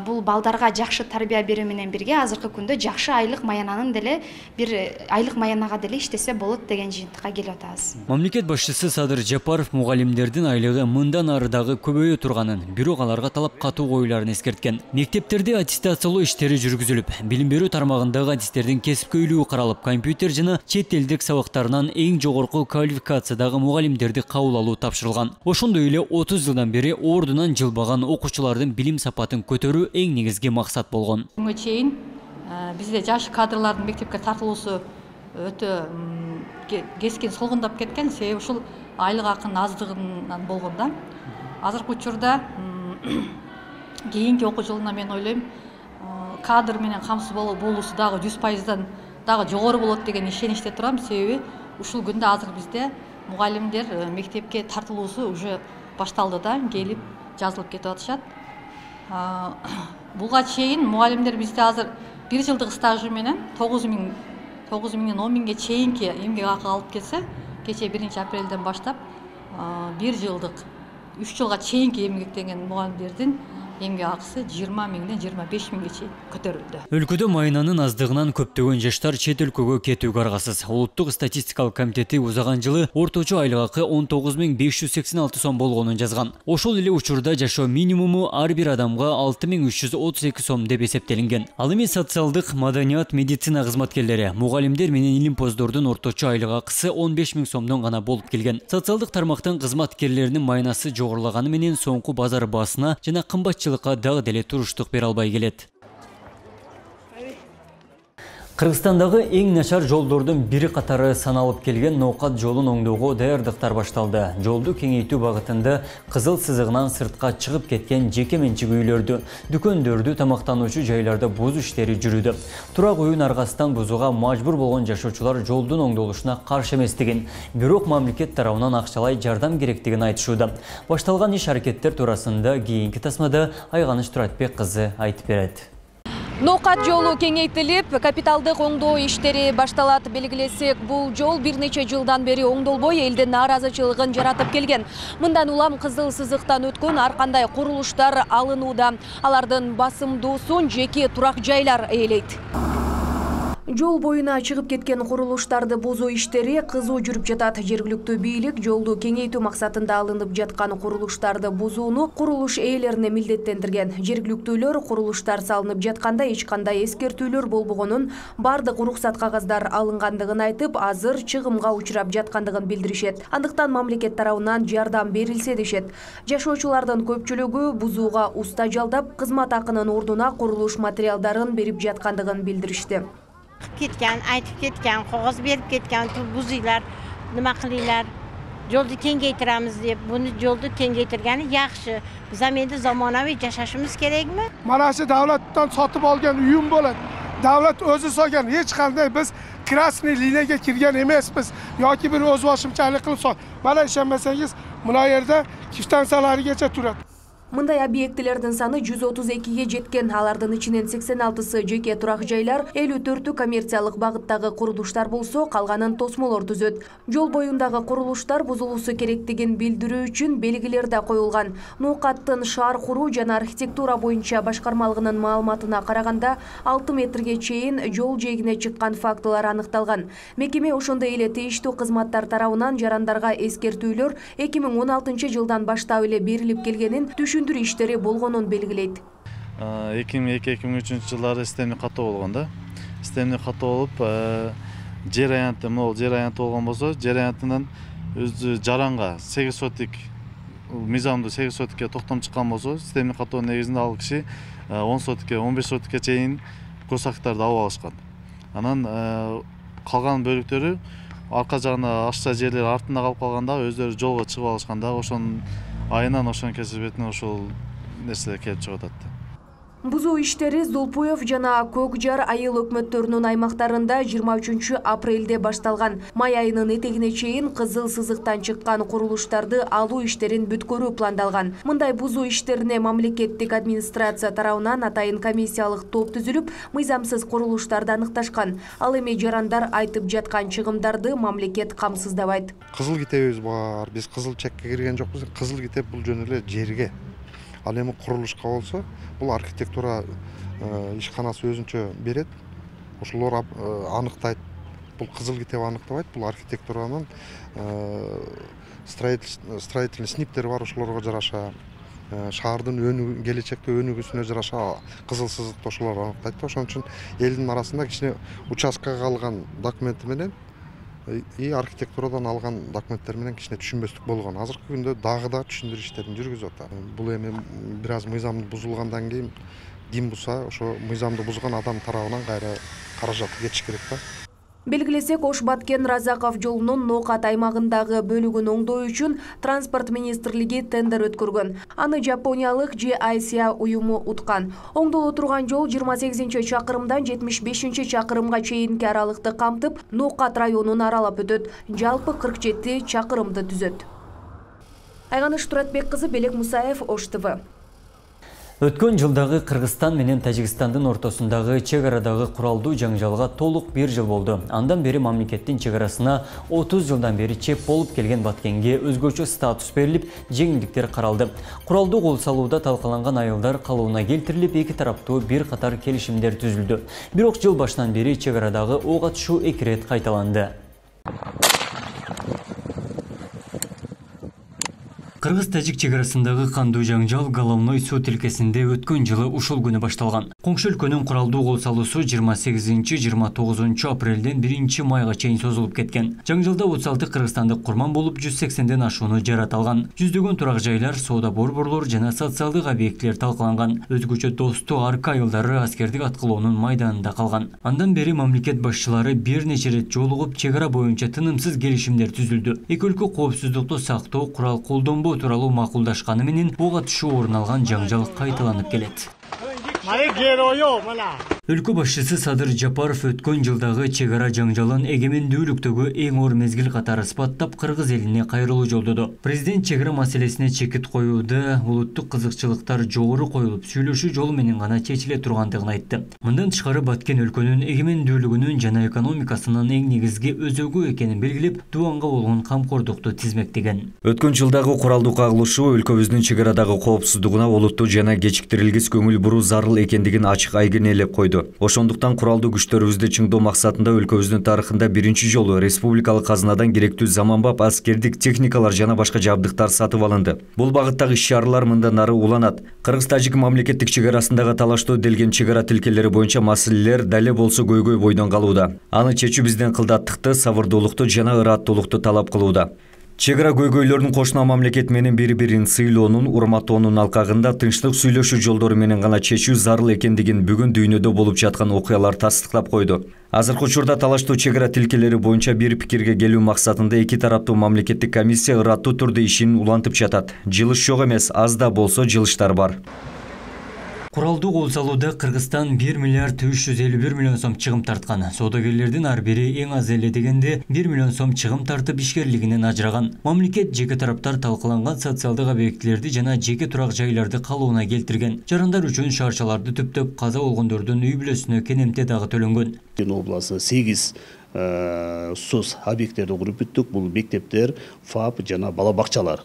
бул балдарга жакшы тарбия берүү менен бирге азыркы күндө жакшы айлык маянанын деле бир айлык маянага деле иштесе болот деген жыйынтыкка келип атабыз. Мамлекет башчысы Садыр Жапаров мугалимдердин айлыгы мындан ары дагы көбөйө турганын, бирок аларга талап катуу коюларын эскерткен. Мектептерде аттестациялоо иштери жүргүзүлүп, билим берүү тармагындагы адистердин кесипкөйлүгү каралып, компьютер жана чет элдик сабактарынан эң жогорку квалификациядагы мугалимдерди кабыл алуу тапшырылган. Ошондой эле отуз жылдан бери ордунан жылбаган окуучулардын билим сапатын көтөрүү эң негизги максат болгон. Буга чейин бизде жаш кадрлардын мектепке тартылуусу өтө кескин солгундап кеткен, себеби ушул айлык акынын аздыгынан болгон да. Азыркы учурда кийинки окуу жылына мен ойлойм, кадр менен камсыз болуусу дагы жүз пайыздан дагы жогору болот деген ишеничте турам, себеби ушул күндө азыр бизде мугалимдер мектепке тартылуусу уже башталды да, келип жазылып кетип атышат. Буга чейин мугалимдер бизде азыр бир жылдык стажы менен тогуз миңден он миңге чейинки эмгек акы алып келсе, кечээ биринчи апрелден баштап бир жылдык үч жылга чейинки эмгектенген мугалимдердин эмгек акысы жыйырма миңден жыйырма беш миңге чейин көтөрүлдү. Өлкөдө майнанын аздыгынан көптөгөн жаштар чет өлкөгө кетүүгө аргасыз. Улуттук статистикалык комитети узаган жылы орточо айлык акы он тогуз миң беш жүз сексен алты сом болгонун жазган. Ошол эле учурда жашоо минимуму ар бир адамга алты миң үч жүз отуз эки сом деп эсептелинген. Ал эми социалдык, маданият, медицина кызматкерлери, мугалимдер менен илимпоздордун орточо айлык акысы он беш миң сомдон гана болуп келген. Социалдык тармактын кызматкерлеринин майнасы жогорулаганы менен соңку базар баасына жана кымбатчылыкка дагы деле туруштук бере албай келет. Кыргызстандагы эң начар жолдордун бири катары саналып келген Ноокат жолун оңдоого даярдыктар башталды. Жолду кеңейтүү багытында кызыл сызыгынан сыртка чыгып кеткен жеке менчик үйлөрдү, дүкөндөрдү, тамактануучу жайларда бузуу иштери жүрүүдө. Турак үйүн аргасынан бузууга мажбур болгон жашоочулар жолдун оңдолушуна каршы эместигин, бирок мамлекет тарабынан акчалай жардам керектигин айтышууда. Башталган иш аракеттер туурасында кийинки тасмада Айганыч Туратбек кызы айтып берет. Ноокат жолу кеңейтилип, капиталдык оңдоо иштери башталат. Белгилесек, бул жол бир нече жылдан бери оңдолбой элдин нааразычылыгын жаратып келген. Мындан улам кызыл сызыктан өткөн ар кандай курулуштар алынууда. Алардын басымдуусун жеке турак жайлар ээлейт. Жол боюна чыгып кеткен курулуштарды бузуу иштери кызуу жүрүп жатат. Жергиликтүү бийлик жолду кеңейтүү максатында алынып жаткан курулуштарды бузууну курулуш ээлерине милдеттендирген. Жергиликтүүлөр курулуштар салынып жатканда эч кандай эскертүүлөр болбогонун, бардык уруксат кагаздар алынгандыгын айтып, азыр чыгымга учурап жаткандыгын билдиришет. Андыктан мамлекет тарабынан жардам берилсе дешет. Жашоочулардын көпчүлүгү бузууга уста жалдап, кызмат акынын ордуна курулуш материалдарын берип жаткандыгын билдиришти. Кеткен, айтып кеткен, кагаз берип кеткен, бузуйлар, нема кылыйлар, жолду кеңейтирамыз деп, буну жолду кеңейтиргени жакшы. Биз эми заманауи жашашыбыз керекми? Mana shu davlatdan sotib olgan uyum bo'ladi. Davlat o'zi solgan, hech qanday biz krasniy liniyaga kirgan emasmiz yoki bir o'z boshimchalik qilib sol. Mana ishonmasangiz, buna yerda kvitansiyalargacha turadi. Мындай объектилердин саны жүз отуз экиге жеткен. Алардын ичинен сексен алтысы жеке турак жайлар, элүү төртү коммерциялык багыттагы курулуштар болсо, калганын тосмолор түзөт. Жол боюндагы курулуштар бузулуусу керектигин билдирүү үчүн белгилер да коюлган. Ноокаттын шаар куруу жана архитектура боюнча башкармалыгынын маалыматына караганда, алты метрге чейин жол жээгине чыккан фактылар аныкталган. Мекеме ошондой эле тийиштүү кызматтар тарабынан жарандарга эскертүүлөр эки миң он алтынчы жылдан баштап эле берилип келгенин, түшүндүрүү иштери болгонун белгилейт. эки миң эки — эки миң үчүнчү жылдары системдик каттоо болгон да. Системдик каттоо болуп, жер аянты, могул жер аянты болгон болсо, жер аянтынан өзү жаранга сегиз сотик мыйзамдуу сегиз сотикке токтом чыккан болсо, системдик каттоонун негизинде ал киши он сотикке, он беш сотикке чейин көз актарды алып алышкан. Анан калган бөлүктөрү арка жагына ашча жерлер артында калып калганда өздөрү жолго чыгып алышканда, ошонун айынан ошонун кесепетине ошол нерселер келип чыгып атат. Бузуу иштери Зулпуев жана Көк Жар айыл өкмөттөрүнүн аймактарында жыйырма үчүнчү апрелде башталган. Май айынын этегине чейин кызыл сызыктан чыккан курулуштарды алуу иштерин бүткөрүү пландалган. Мындай бузуу иштерине мамлекеттик администрация тарабынан атайын комиссиялык топ түзүлүп, мыйзамсыз курулуштарды аныкташкан. Ал эми жарандар айтып жаткан чыгымдарды мамлекет камсыздабайт. Кызыл китебибиз бар. Биз кызыл чекке кирген жокпуз. Кызыл китеп бул жөн эле жерге. Ал эми курулушка болсо, бул архитектура ишканасы өзүнчө берет. Ошолор аныктайт. Бул кызыл китеп аныктабайт, бул архитектуранын строительный сниптери бар, ошолорго жараша, шаардын өнүгүү, келечекте өнүгүүсүнө жараша кызыл сызыкты ошолор аныктайт. Ошон үчүн элдин арасында кичине участкага алган документи менен и архитектурадан алган документтер менен кичине түшүнбөстүк болгон. Азыркы күндө дагы да түшүндүрүү иштерин жүргүзүп атат. Бул эми бир аз мыйзамды бузулгандан кийин ким бузса, ошо мыйзамды бузган адам тарабынан кайра каражаты кетиш керек да. Белгилесек, Ош Баткен Разаков жолунун Ноокат аймагындагы бөлүгүн оңдоо үчүн транспорт министрлиги тендер өткөргөн. Аны жапониялык Джи Ай Си А уюму уткан. Оңдоло турган жол жыйырма сегизинчи чакырымдан жетимиш бешинчи чакырымга чейинки аралыкты камтып, Ноокат районун аралап өтөт. Жалпы кырк жети чакырымды түзөт. Айганыш Туратбек кызы, Белек Мусаев, Ош Т В. Өткөн жылдагы Кыргызстан менен Тажикстандын ортосундагы чек арадагы куралдуу жаңжалга толук бир жыл болду. Андан бери мамлекеттин чек арасына отуз жылдан бери чеп болуп келген Баткенге өзгөчө статус берилип, жеңилдиктер каралды. Куралдуу кол салууда талкаланган айылдар калыбына келтирилип, эки тараптуу бир катар келишимдер түзүлдү. Бирок жыл башынан бери чек арадагы ок атышуу эки рет кайталанды. Кыргыз-Тажик чек арасындагы кандуу жаңжал Головной суу тилкесинде өткөн жылы ушул күнү башталган. Коңшу өлкөнүн куралдуу кол салуусу жыйырма сегизинчи — жыйырма тогузунчу апрелден биринчи майга чейин созулуп кеткен. Жаңжалда отуз алты кыргызстандык курман болуп, жүз сексенден ашууну жараталган. Жүздөгөн турак жайлар, соода борборлор жана социалдык объектилер талкаланган. Өзгөчө достуу арка айылдары аскердик аткылоонун майданында калган. Андан бери мамлекет башчылары бир нече рет жолугуп, чек ара боюнча тынымсыз келишимдер түзүлдү. Эки өлкө коопсуздукту сактоо, курал колдонбоо тууралуу макулдашканы менен ок атышуу орун алган жаңжал кайталанып келет. Өлкө башчысы Садыр Жапаров өткөн жылдагы чек ара жаңжалын эгемендүүлүктөгү эң оор мезгил катары сыпаттап, кыргыз элине кайрылуу жолдоду. Президент чек ара маселесине чекит коюуда улуттук кызыкчылыктар жогору коюлуп, сүйлөшүү жолу менен гана чечиле тургандыгын айтты. Мындан тышкары Баткен өлкөнүн эгемендүүлүгүнүн жана экономикасынын эң негизги өзөгү экенин белгилеп, Дубанга болгон камкордукту тизмектеген. Өткөн жылдагы куралдуу кагылышуу өлкөбүздүн чек арадагы коопсуздугуна олуттуу жана кечиктирилгис көңүл буруу зарыл экендигин ачык айгинелеп койду. Ошондуктан куралдуу күчтөрүбүздү чыңдоо максатында өлкөбүздүн тарыхында биринчи жолу республикалык казынадан керектүү заманбап аскердик техникалар жана башка жабдыктар сатып алынды. Бул багыттагы иш-чаралар мындан ары уланат. Кыргыз-Тажик мамлекеттик чек арасындагы талаштоо делген чек ара тилкелери боюнча маселелер дале болсо көйгөй бойдон калууда. Аны чечүү бизден кылдаттыкты, сабырдуулукту жана ыраттуулукту талап кылууда. Чек ара көйгөйлөрүн кошуна мамлекет менен бири-бирин сыйлоонун, урматтоонун алкагында тынчтык сүйлөшүү жолдору менен гана чечүү зарыл экендигин бүгүн дүйнөдө болуп жаткан окуялар тастыктап койду. Азыркы учурда талаштуу чек ара тилкелери боюнча бир пикирге келүү максатында эки тараптуу мамлекеттик комиссия ыраттуу түрдө ишин улантып жатат. Жылыш жок эмес, аз да болсо жылыштар бар. Куралдуу кол салууда Кыргызстан бир миллиард үч жүз элүү бир миллион сом чыгым тарткан. Соодагерлердин ар бири эң аз эле дегенде бир миллион сом чыгым тартып ишкерлигинен ажыраган. Мамлекет жеке тараптар талкаланган социалдык объектилерди жана жеке турак жайларды калыбына келтирген. Жарандар үчүн шаршаларды түптөп, каза болгондордун үй бүлөсүнө кенемте дагы төлөнгөн. Обласы сегиз соц объекттерди куруп бүттүк. Бул мектептер, ФАП жана бала бакчалар.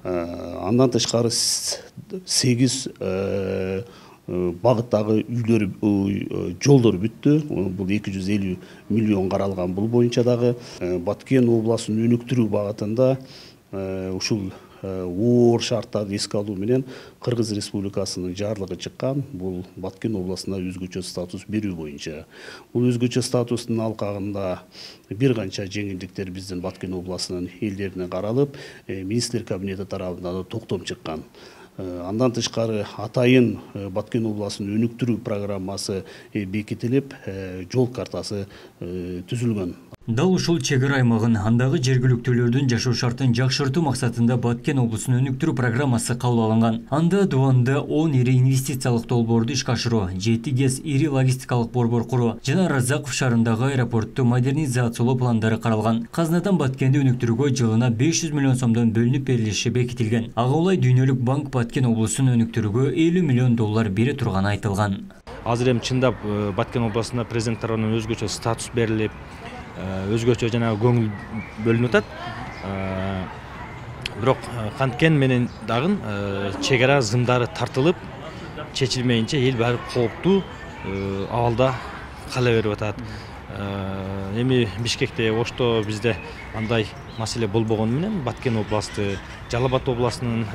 Андан тышкары сегиз багыттагы үйлөр, жолдор бүттү. Бул эки жүз элүү миллион каралган. Бул боюнча дагы Баткен областын өнүктүрүү багытында ушул оор шарттарды эске алуу менен Кыргыз Республикасынын жарлыгы чыккан. Бул Баткен областына өзгөчө статус берүү боюнча. Бул өзгөчө статустун алкагында бир канча жеңилдиктер биздин Баткен областынын элдерине каралып, министрлер кабинети тарабынан токтом чыккан. Андан тышкары атайын Баткен областынын өнүктүрүү программасы бекитилип, жол картасы түзүлгөн. Дал ушул чек ара аймагын андагы жергиликтүүлөрдүн жашоо шартын жакшыртуу максатында Баткен облусун өнүктүрүү программасы кабыл алынган. Анда Дубанда он ири инвестициялык долбоорду ишке ашыруу, жети гез ири логистикалык борбор куруу жана Разаков шаарындагы аэропортту модернизациялоо пландары каралган. Казынадан Баткенди өнүктүрүүгө жылына беш жүз миллион сомдон бөлүнүп берилиши бекитилген. Ага улай Дүйнөлүк банк Баткен облусун өнүктүрүүгө элүү миллион доллар бере турганы айтылган. Азыр эми чындап Баткен областында президент тарабынан өзгөчө статус берилип, өзгөчө жана көңүл бөлүнүп атат. Бирок канткен менен дагы чек ара зымдары тартылып, чечилмейинче эл баары кооптуу абалда кала берип атат. Эми Бишкекте, Ошто бизде андай маселе болбогону менен Баткен областы, Жалал Абад областынын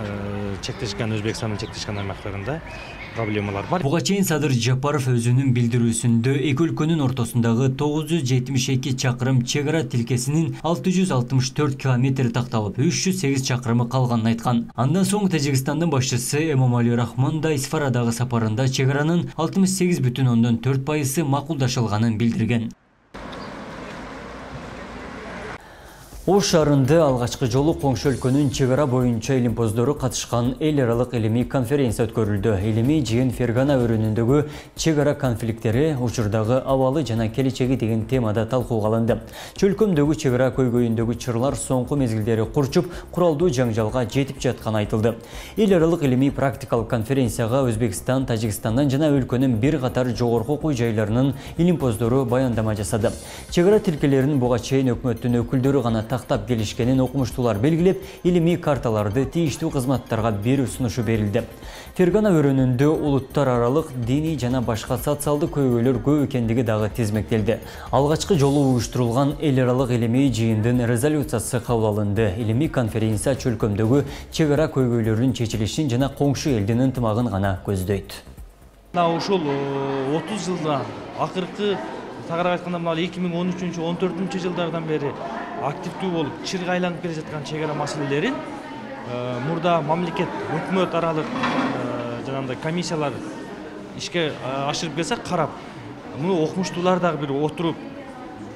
чектешкен Өзбекстандын чектешкен аймактарында проблемалар бар. Буга чейин Садыр Жапаров өзүнүн билдирүүсүндө эки өлкөнүн ортосундагы тогуз жүз жетимиш эки чакырым чек ара тилкесинин алты жүз алтымыш төрт километри такталып, үч жүз сегиз чакырымы калганын айткан. Андан соң Тажикстандын башчысы Эмомали Рахмон да Исфарадагы сапарында чек аранын алтымыш сегиз бүтүн ондон төрт пайызы макулдашылганын билдирген. Ош шаарында алгачкы жолу коңшу өлкөнүн чек ара боюнча илимпоздору катышкан эл аралык илимий конференция өткөрүлдү. Илимий жыйын Фергана өрөөнүндөгү чек ара конфликттери, учурдагы абалы жана келечеги деген темада талкууга алынды. Чөлкөмдөгү чек ара көйгөйүндөгү чырлар соңку мезгилдери курчуп, куралдуу жаңжалга жетип жатканы айтылды. Эл аралык илимий практикалык конференцияга Өзбекстан, Тажикстандан жана өлкөнүн бир катар жогорку окуу жайларынын илимпоздору баяндама жасады. Чек ара тилкелерин буга чейин өкмөттүн өкүлдөрү гана тактап келишкенин окумуштуулар белгилеп, илимий карталарды тийиштүү кызматтарга берүү сунушу берилди. Фергана өрөөнүндө улуттар аралык диний жана башка социалдык көйгөйлөр көп экендиги дагы тизмектелди. Алгачкы жолу уюштурулган эл аралык илимий жыйындын резолюциясы кабыл алынды. Илимий конференция чөлкөмдөгү чек ара көйгөйлөрүнүн чечилишин жана коңшу элдин ынтымагын гана көздөйт. Ушул отуз жылда акыркы тагыраак айтканда мына эки миң он үчүнчү он төртүнчү жылдардан бери активдүү болуп чырга айланып келе жаткан чек ара маселелерин мурда мамлекет өкмөт аралык жанагындай комиссиялар ишке ашырып келсе карап, муну окумуштуулар дагы бир отуруп,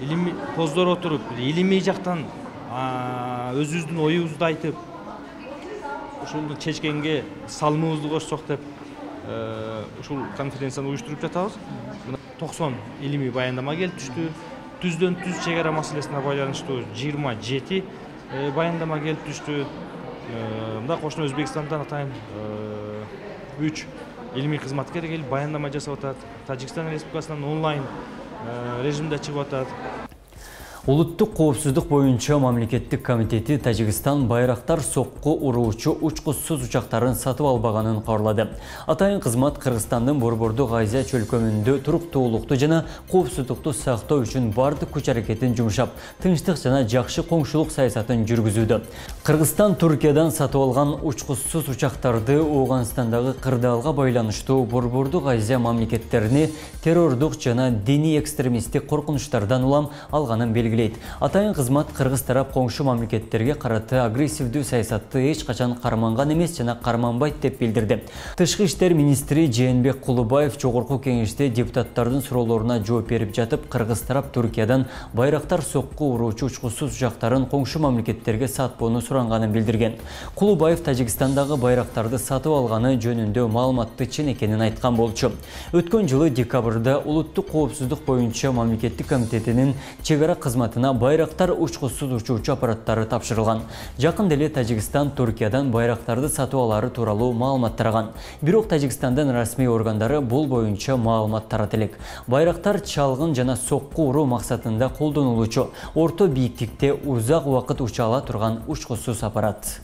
илимий поздор отуруп, илимий жактан өзүбүздүн оюбузду айтып, ушул чечкенге салымыбызды кошсок деп ушул конференцияны уюштуруп жатабыз. токсон илимий баяндама келип түштү. Түздөн түз чек ара маселесине байланыштуу жыйырма жети баяндама келип түштү. Мында кошуна Өзбекстандан атайын үч илимий кызматкер келип баяндама жасап атат. Тажикстан Республикасынан онлайн режимде чыгып атат. Улуттук коопсуздук боюнча мамлекеттик комитети Тажикстан байрактар сокку уруучу учкучсуз учактарын сатып албаганын кабарлады. Атайын кызмат Кыргызстандын борбордук Азия чөлкөмүндө туруктуулукту жана коопсуздукту сактоо үчүн бардык күч аракетин жумшап, тынчтык жана жакшы коңшулук саясатын жүргүзүүдө. Кыргызстан Туркиядан сатып алган учкучсуз учактарды Ооганстандагы кырдаалга байланыштуу борбордук Азия мамлекеттерине террордук жана диний экстремисттик коркунучтардан улам алганын белгилейт. Атайын кызмат Кыргыз тарап коңшу мамлекеттерге караты агрессивдүү саясатты эч качан карманган эмес жана карманбайт деп билдирди. Тышкы иштер министри Жээнбек Кулубаев жогорку кеңеште депутаттардын суроолоруна жооп берип жатып, Кыргыз тарап Туркиядан байрактар сокку уруучу учкучсуз учактарын коңшу мамлекеттерге сатпоону суранганын билдирген. Кулубаев Тажикстандагы байрактарды сатып алганы жөнүндө маалыматты чын экенин айткан болчу. Өткөн жылы декабрда улуттук коопсуздук боюнча мамлекеттик комитетинин чек ара кызматына байрактар учкучсуз учуучу аппараттары тапшырылган. Жакында эле Тажикстан Туркиядан байрактарды сатып алары тууралуу маалымат тараган. Бирок Тажикстандын расмий органдары бул боюнча маалымат тарата элек. Байрактар чалгын жана сокку уруу максатында колдонулуучу, орто бийиктикте узак убакыт уча ала турган учкучсуз аппарат.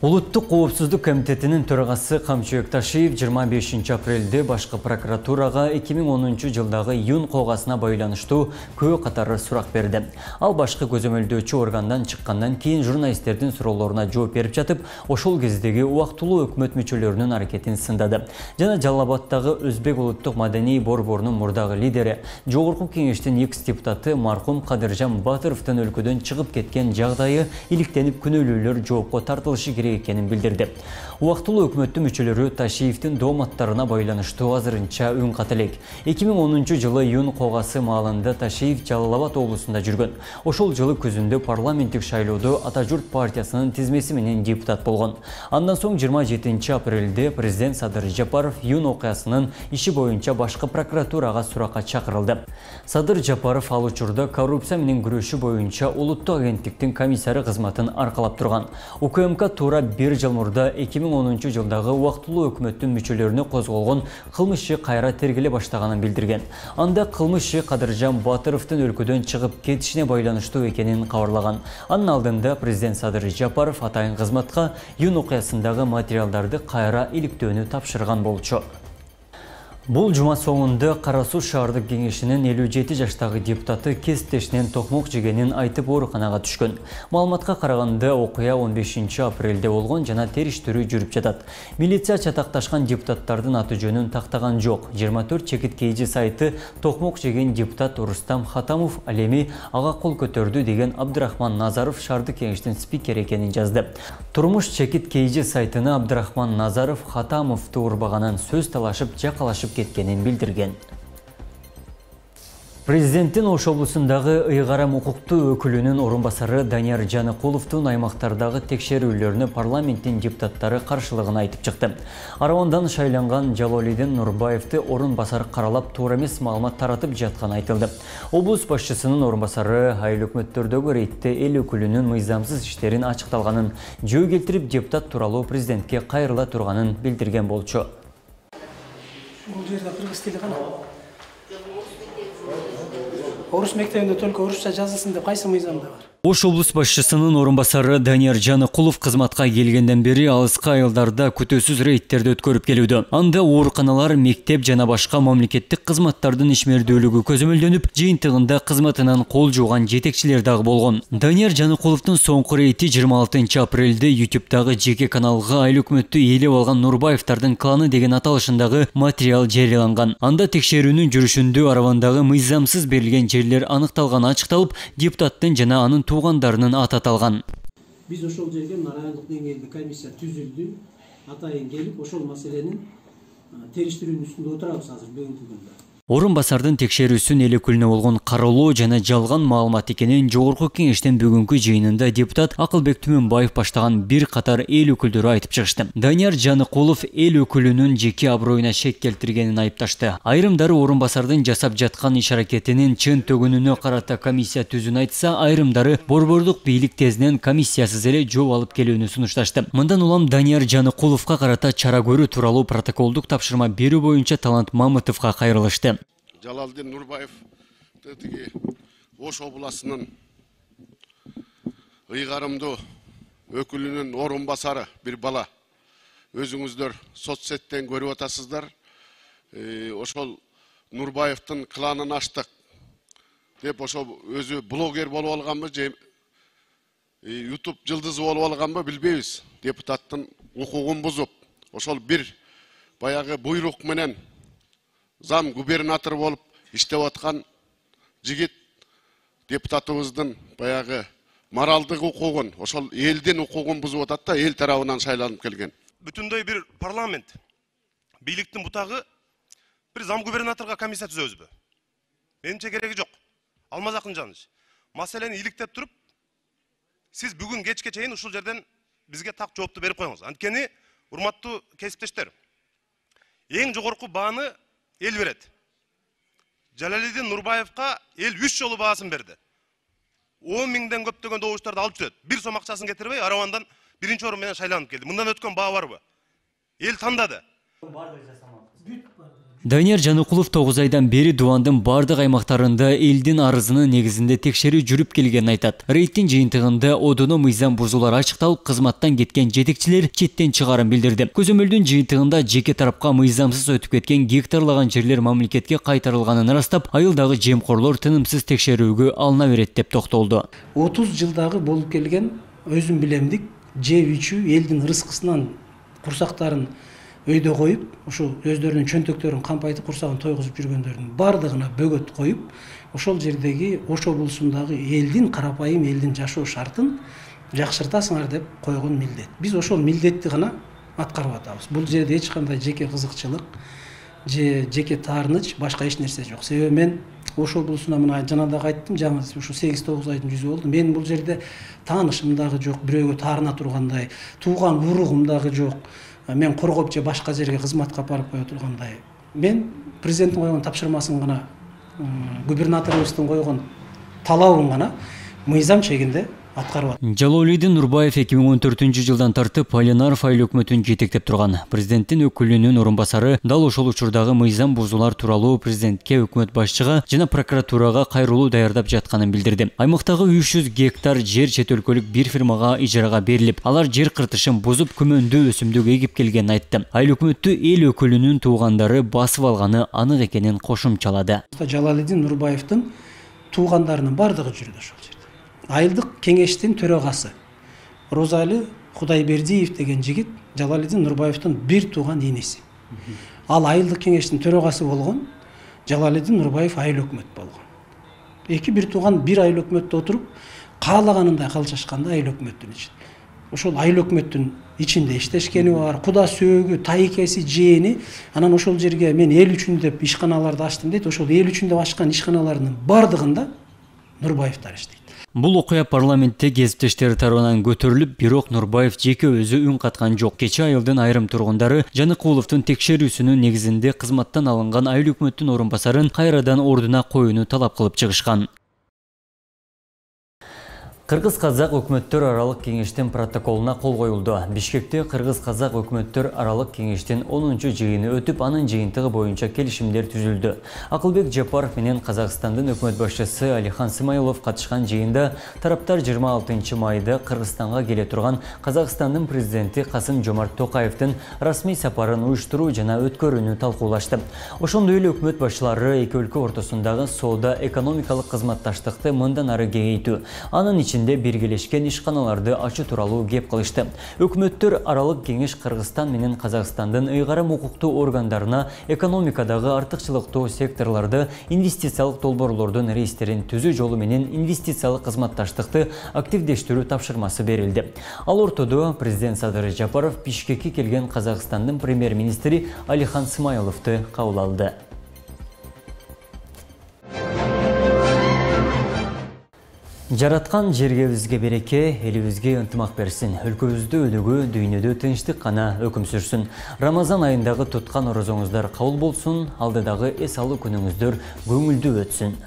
Улуттук коопсуздук комитетинин төрагасы Камчыбек Ташиев жыйырма бешинчи апрелде башкы прокуратурага эки миң онунчу жылдагы июнь кылгасына байланыштуу көп катары сурак берди. Ал башкы көзөмөлдөөчү органдан чыккандан кийин журналисттердин суроолоруна жооп берип жатып, ошол кездеги убактылуу өкмөт мүчөлөрүнүн аракетин сындады. Жана Жалал Абадтагы Өзбек улуттук маданий борборунун мурдагы лидери, жогорку кеңештин экс депутаты маркум Кадыржан Батыровдун өлкөдөн чыгып кеткен жагдайы иликтенип күнөөлүүлөр жоопко тартылышы керек керек экенин билдирди. Убактылуу өкмөттүн мүчөлөрү Ташиевдин дооматтарына байланыштуу азырынча үн ката элек. эки миң онунчу жылы июнь когасы маалында Ташиев Жалал Абад облусунда жүргөн. Ошол жылы күзүндө парламенттик шайлоодо Ата журт партиясынын тизмеси менен депутат болгон. Андан соң жыйырма жетинчи апрелде президент Садыр Жапаров июнь окуясынын иши боюнча башкы прокуратурага суракка чакырылды. Садыр Жапаров ал учурда коррупция менен күрөшүү боюнча улуттук агенттиктин комиссары кызматын аркалап турган. УКМК туура бир жыл мурда эки миң онунчу жылдагы убактылуу өкмөттүн мүчөлөрүнө козголгон кылмыш иши кайра тергеле баштаганын билдирген. Анда кылмыш иши Кадыржан Батыровдун өлкөдөн чыгып кетишине байланыштуу экенин кабарлаган. Анын алдында президент Садыр Жапаров атайын кызматка июнь окуясындагы материалдарды кайра иликтөөнү тапшырган болчу. Бул жума соңунда Кара Суу шаардык кеңешинин элүү жети жаштагы депутаты кесиптешинен токмок жегенин айтып ооруканага түшкөн. Маалыматка караганда окуя он бешинчи апрелде болгон жана териштирүү жүрүп жатат. Милиция чатакташкан депутаттардын аты жөнүн тактаган жок. жыйырма төрт чекит кейжи сайты токмок жеген депутат Рустам Хатамов ал эми ага кол көтөрдү деген Абдырахман Назаров шаардык кеңештин спикери экенин жазды. Турмуш чекит кейжи сайтына Абдырахман Назаров Хатамовду урбаганын, сөз талашып, жакалашып кеткенин билдирген. Президенттин Ош облусундагы ыйгарым укуктуу өкүлүнүн орун басары Данияр Жаныкуловдун аймактардагы текшерүүлөрүнө парламенттин депутаттары каршылыгын айтып чыкты. Аравандан шайланган Жалолидин Нурбаевди орун басар каралап туура эмес маалымат таратып жатканы айтылды. Облус башчысынын орун басары айыл өкмөттөрдөгү рейдте эл өкүлүнүн мыйзамсыз иштерин ачыкталганын, жөө келтирип депутат тууралуу президентке кайрыла турганын билдирген болчу. Бул жерде кыргыз тили кана? Орус мектебинде только орусча жазылсын деп кайсы мыйзамда бар? Ош облус башчысынын орун басары Данияр Жаныкулов кызматка келгенден бери алыска айылдарда күтөөсүз рейдтерди өткөрүп келүүдө. Анда ооруканалар, мектеп жана башка мамлекеттик кызматтардын ишмердүүлүгү көзөмөлдөнүп, жыйынтыгында кызматынан кол жууган жетекчилер дагы болгон. Данияр Жаныкуловдун соңку рейди жыйырма алтынчы апрелде ютубтагы жеке каналга айыл өкмөттү ээлеп алган Нурбаевдардын кланы деген аталышындагы материал жарыяланган. Анда текшерүүнүн жүрүшүндө Аравандагы мыйзамсыз берилген жерлер аныкталганы ачыкталып, депутаттын жана анын туугандарынын аты аталган. Биз ошол жерге райондук деңгээлде комиссия түзүлдү. Атайын келип ошол маселенин териштирүүнүн үстүндө отурабыз азыр бүгүнкү күндө. Орун басардын текшерүүсүн эл өкүлүнө болгон кароолоо жана жалган маалымат экенин жогорку кеңештин бүгүнкү жыйынында депутат Акылбек Түмөнбаев баштаган бир катар эл өкүлдөрү айтып чыгышты. Данияр Жаныкулов эл өкүлүнүн жеке аброюна шек келтиргенин айыпташты. Айрымдары орун басардын жасап жаткан иш аракетинин чын төгүнүнө карата комиссия түзүүнү айтса, айрымдары борбордук бийлик тезинен комиссиясыз эле жооп алып келүүнү сунушташты. Мындан улам Данияр Жаныкуловго карата чара көрүү тууралуу протоколдук тапшырма берүү боюнча Талант Мамытовго кайрылышты. Жалалдин Нурбаев тиги Ош обласынын ыйгарымдуу өкүлүнүн орун басары бир бала. Өзүңүздөр соцсеттен көрүп атасыздар. Ошол Нурбаевдин кланын аштык деп ошол өзү блогер болуп алганбы же YouTube жылдызы болуп алганбы билбейбиз. Депутаттын укугун бузуп, ошол бир баягы буйрук менен зам губернатор болуп иштеп аткан жигит депутатыбыздын баягы моралдык укугун, ошол элдин укугун бузуп атат да, эл тарабынан шайланып келген. Бүтүндөй бир парламент бийликтин бутагы бир зам губернаторго комиссия түзөбүзбү? Менимче кереги жок. Алмаз Акынжанович, маселени иликтеп туруп, сиз бүгүн кечке чейин ушул жерден бизге так жоопту берип коюңуз. Анткени, урматтуу кесиптештер, эң жогорку бааны эл берет. Жалалидин Нурбаевга эл үч жолу баасын берди. он миңден көптөгөн добуштарды алып жүрөт. Бир сом акчасын кетирбей, Аравандан биринчи орун менен шайланып келди. Мындан өткөн баа барбы? Эл тандады. Данияр Жаныкулов тогуз айдан бери Дубандын бардык аймактарында элдин арызынын негизинде текшерүү жүрүп келгенин айтат. Рейдтин жыйынтыгында одоно мыйзам бузуулар ачыкталып, кызматтан кеткен жетекчилер четтен чыгарын билдирди. Көзөмөлдүн жыйынтыгында жеке тарапка мыйзамсыз өтүп кеткен гектарлаган жерлер мамлекетке кайтарылганын ырастап, айылдагы жемкорлор тынымсыз текшерүүгө алына берет деп токтолду. отуз жылдагы болуп келген өзүм билемдик жеп ичүү элдин рызкысынан курсактарын өйдө коюп, ошо өздөрүнүн чөнтөктөрүн кампайтып, курсагын тойгузуп жүргөндөрдүн бардыгына бөгөт коюп, ошол жердеги Ош облусундагы элдин карапайым элдин жашоо шартын жакшыртасыңар деп койгон милдет. Биз ошол милдетти гана аткарып атабыз. Бул жерде эч кандай жеке кызыкчылык же жеке таарыныч, башка эч нерсе жок. Себеби мен ошол булусуна мына жана дагы айттым, жаңы ушу сегиз тогуз айдын жүзү болду. Мен бул жерде таанышым дагы жок, бирөөгө таарына тургандай, тууган уругум дагы жок. Мен коргоп же башка жерге кызматка барып кое тургандай. Мен президенттин койгон тапшырмасын гана, губернаторубуздун койгон талабын гана мыйзам чегинде аткарып атат. Жалолидин Нурбаев эки миң он төртүнчү жылдан тартып Алинаров айыл өкмөтүн жетектеп турган. Президенттин өкүлүнүн орун басары дал ошол учурдагы мыйзам бузуулар тууралуу президентке, өкмөт башчыга жана прокуратурага кайрылуу даярдап жатканын билдирди. Аймактагы үч жүз гектар жер чет өлкөлүк бир фирмага ижарага берилип, алар жер кыртышын бузуп күмөндүү өсүмдүк эгип келгенин айтты. Айыл өкмөттү эл өкүлүнүн туугандары басып алганы анык экенин кошумчалады. Жалалидин Нурбаевдин туугандарынын бардыгы жүрдү ошол жерде. Айылдык кеңештин төрагасы Розали Кудайбердиев деген жигит Жалалидин Нурбаевдин бир тууган энеси. Ал айылдык кеңештин төрагасы болгон, Жалалидин Нурбаев айыл өкмөт болгон. Эки бир тууган бир айыл өкмөттө отуруп, каалаганындай калчашканда айыл өкмөттүн ичинде. Ошол айыл өкмөттүн ичинде иштешкени бар, куда сөөгү, тайкеси, жээни, анан ошол жерге мен эл үчүн деп ишканаларды ачтым дейт. Ошол эл үчүн деп ачкан ишканалардын бардыгында Нурбаевдер иштейт. Бул окуя парламентте кесиптештери тарабынан көтөрүлүп, бирок Нурбаев жеке өзү үн каткан жок. Кечээ айылдын айрым тургундары Жаныкуловдун текшерүүсүнүн негизинде кызматтан алынган айыл өкмөттүн орун басарын кайрадан ордуна коюуну талап кылып чыгышкан. Кыргыз-казак өкмөттөр аралык кеңештин протоколуна кол коюлду. Бишкекте Кыргыз-казак өкмөттөр аралык кеңештин онунчу жыйыны өтүп, анын жыйынтыгы боюнча келишимдер түзүлдү. Акылбек Жапаров менен Казакстандын өкмөт башчысы Алихан Смайлов катышкан жыйында тараптар жыйырма алтынчы майда Кыргызстанга келе турган Казакстандын президенти Касым-Жомарт Токаевдин расмий сапарын уюштуруу жана өткөрүүнү талкуулашты. Ошондой эле өкмөт башчылары эки өлкө ортосундагы соода экономикалык кызматташтыкты мындан ары кеңейтүү, анын ичинде биргелешкен ишканаларды ачуу тууралуу кеп кылышты. Өкмөттөр аралык кеңеш Кыргызстан менен Казакстандын ыйгарым укуктуу органдарына экономикадагы артыкчылыктуу секторлорду, инвестициялык долбоорлордун рейстерин түзүү жолу менен инвестициялык кызматташтыкты активдештирүү тапшырмасы берилди. Ал ортодо президент Садыр Жапаров Бишкекке келген Казакстандын премьер-министри Алихан Смайловду кабыл алды. Жараткан жергебизге береке, элибизге ынтымак берсин. Өлкөбүздө өнүгүү, дүйнөдө тынчтык гана өкүм сүрсүн. Рамазан айындагы туткан орозоңуздар кабыл болсун, алдыдагы эс алуу күнүңүздөр көңүлдүү өтсүн.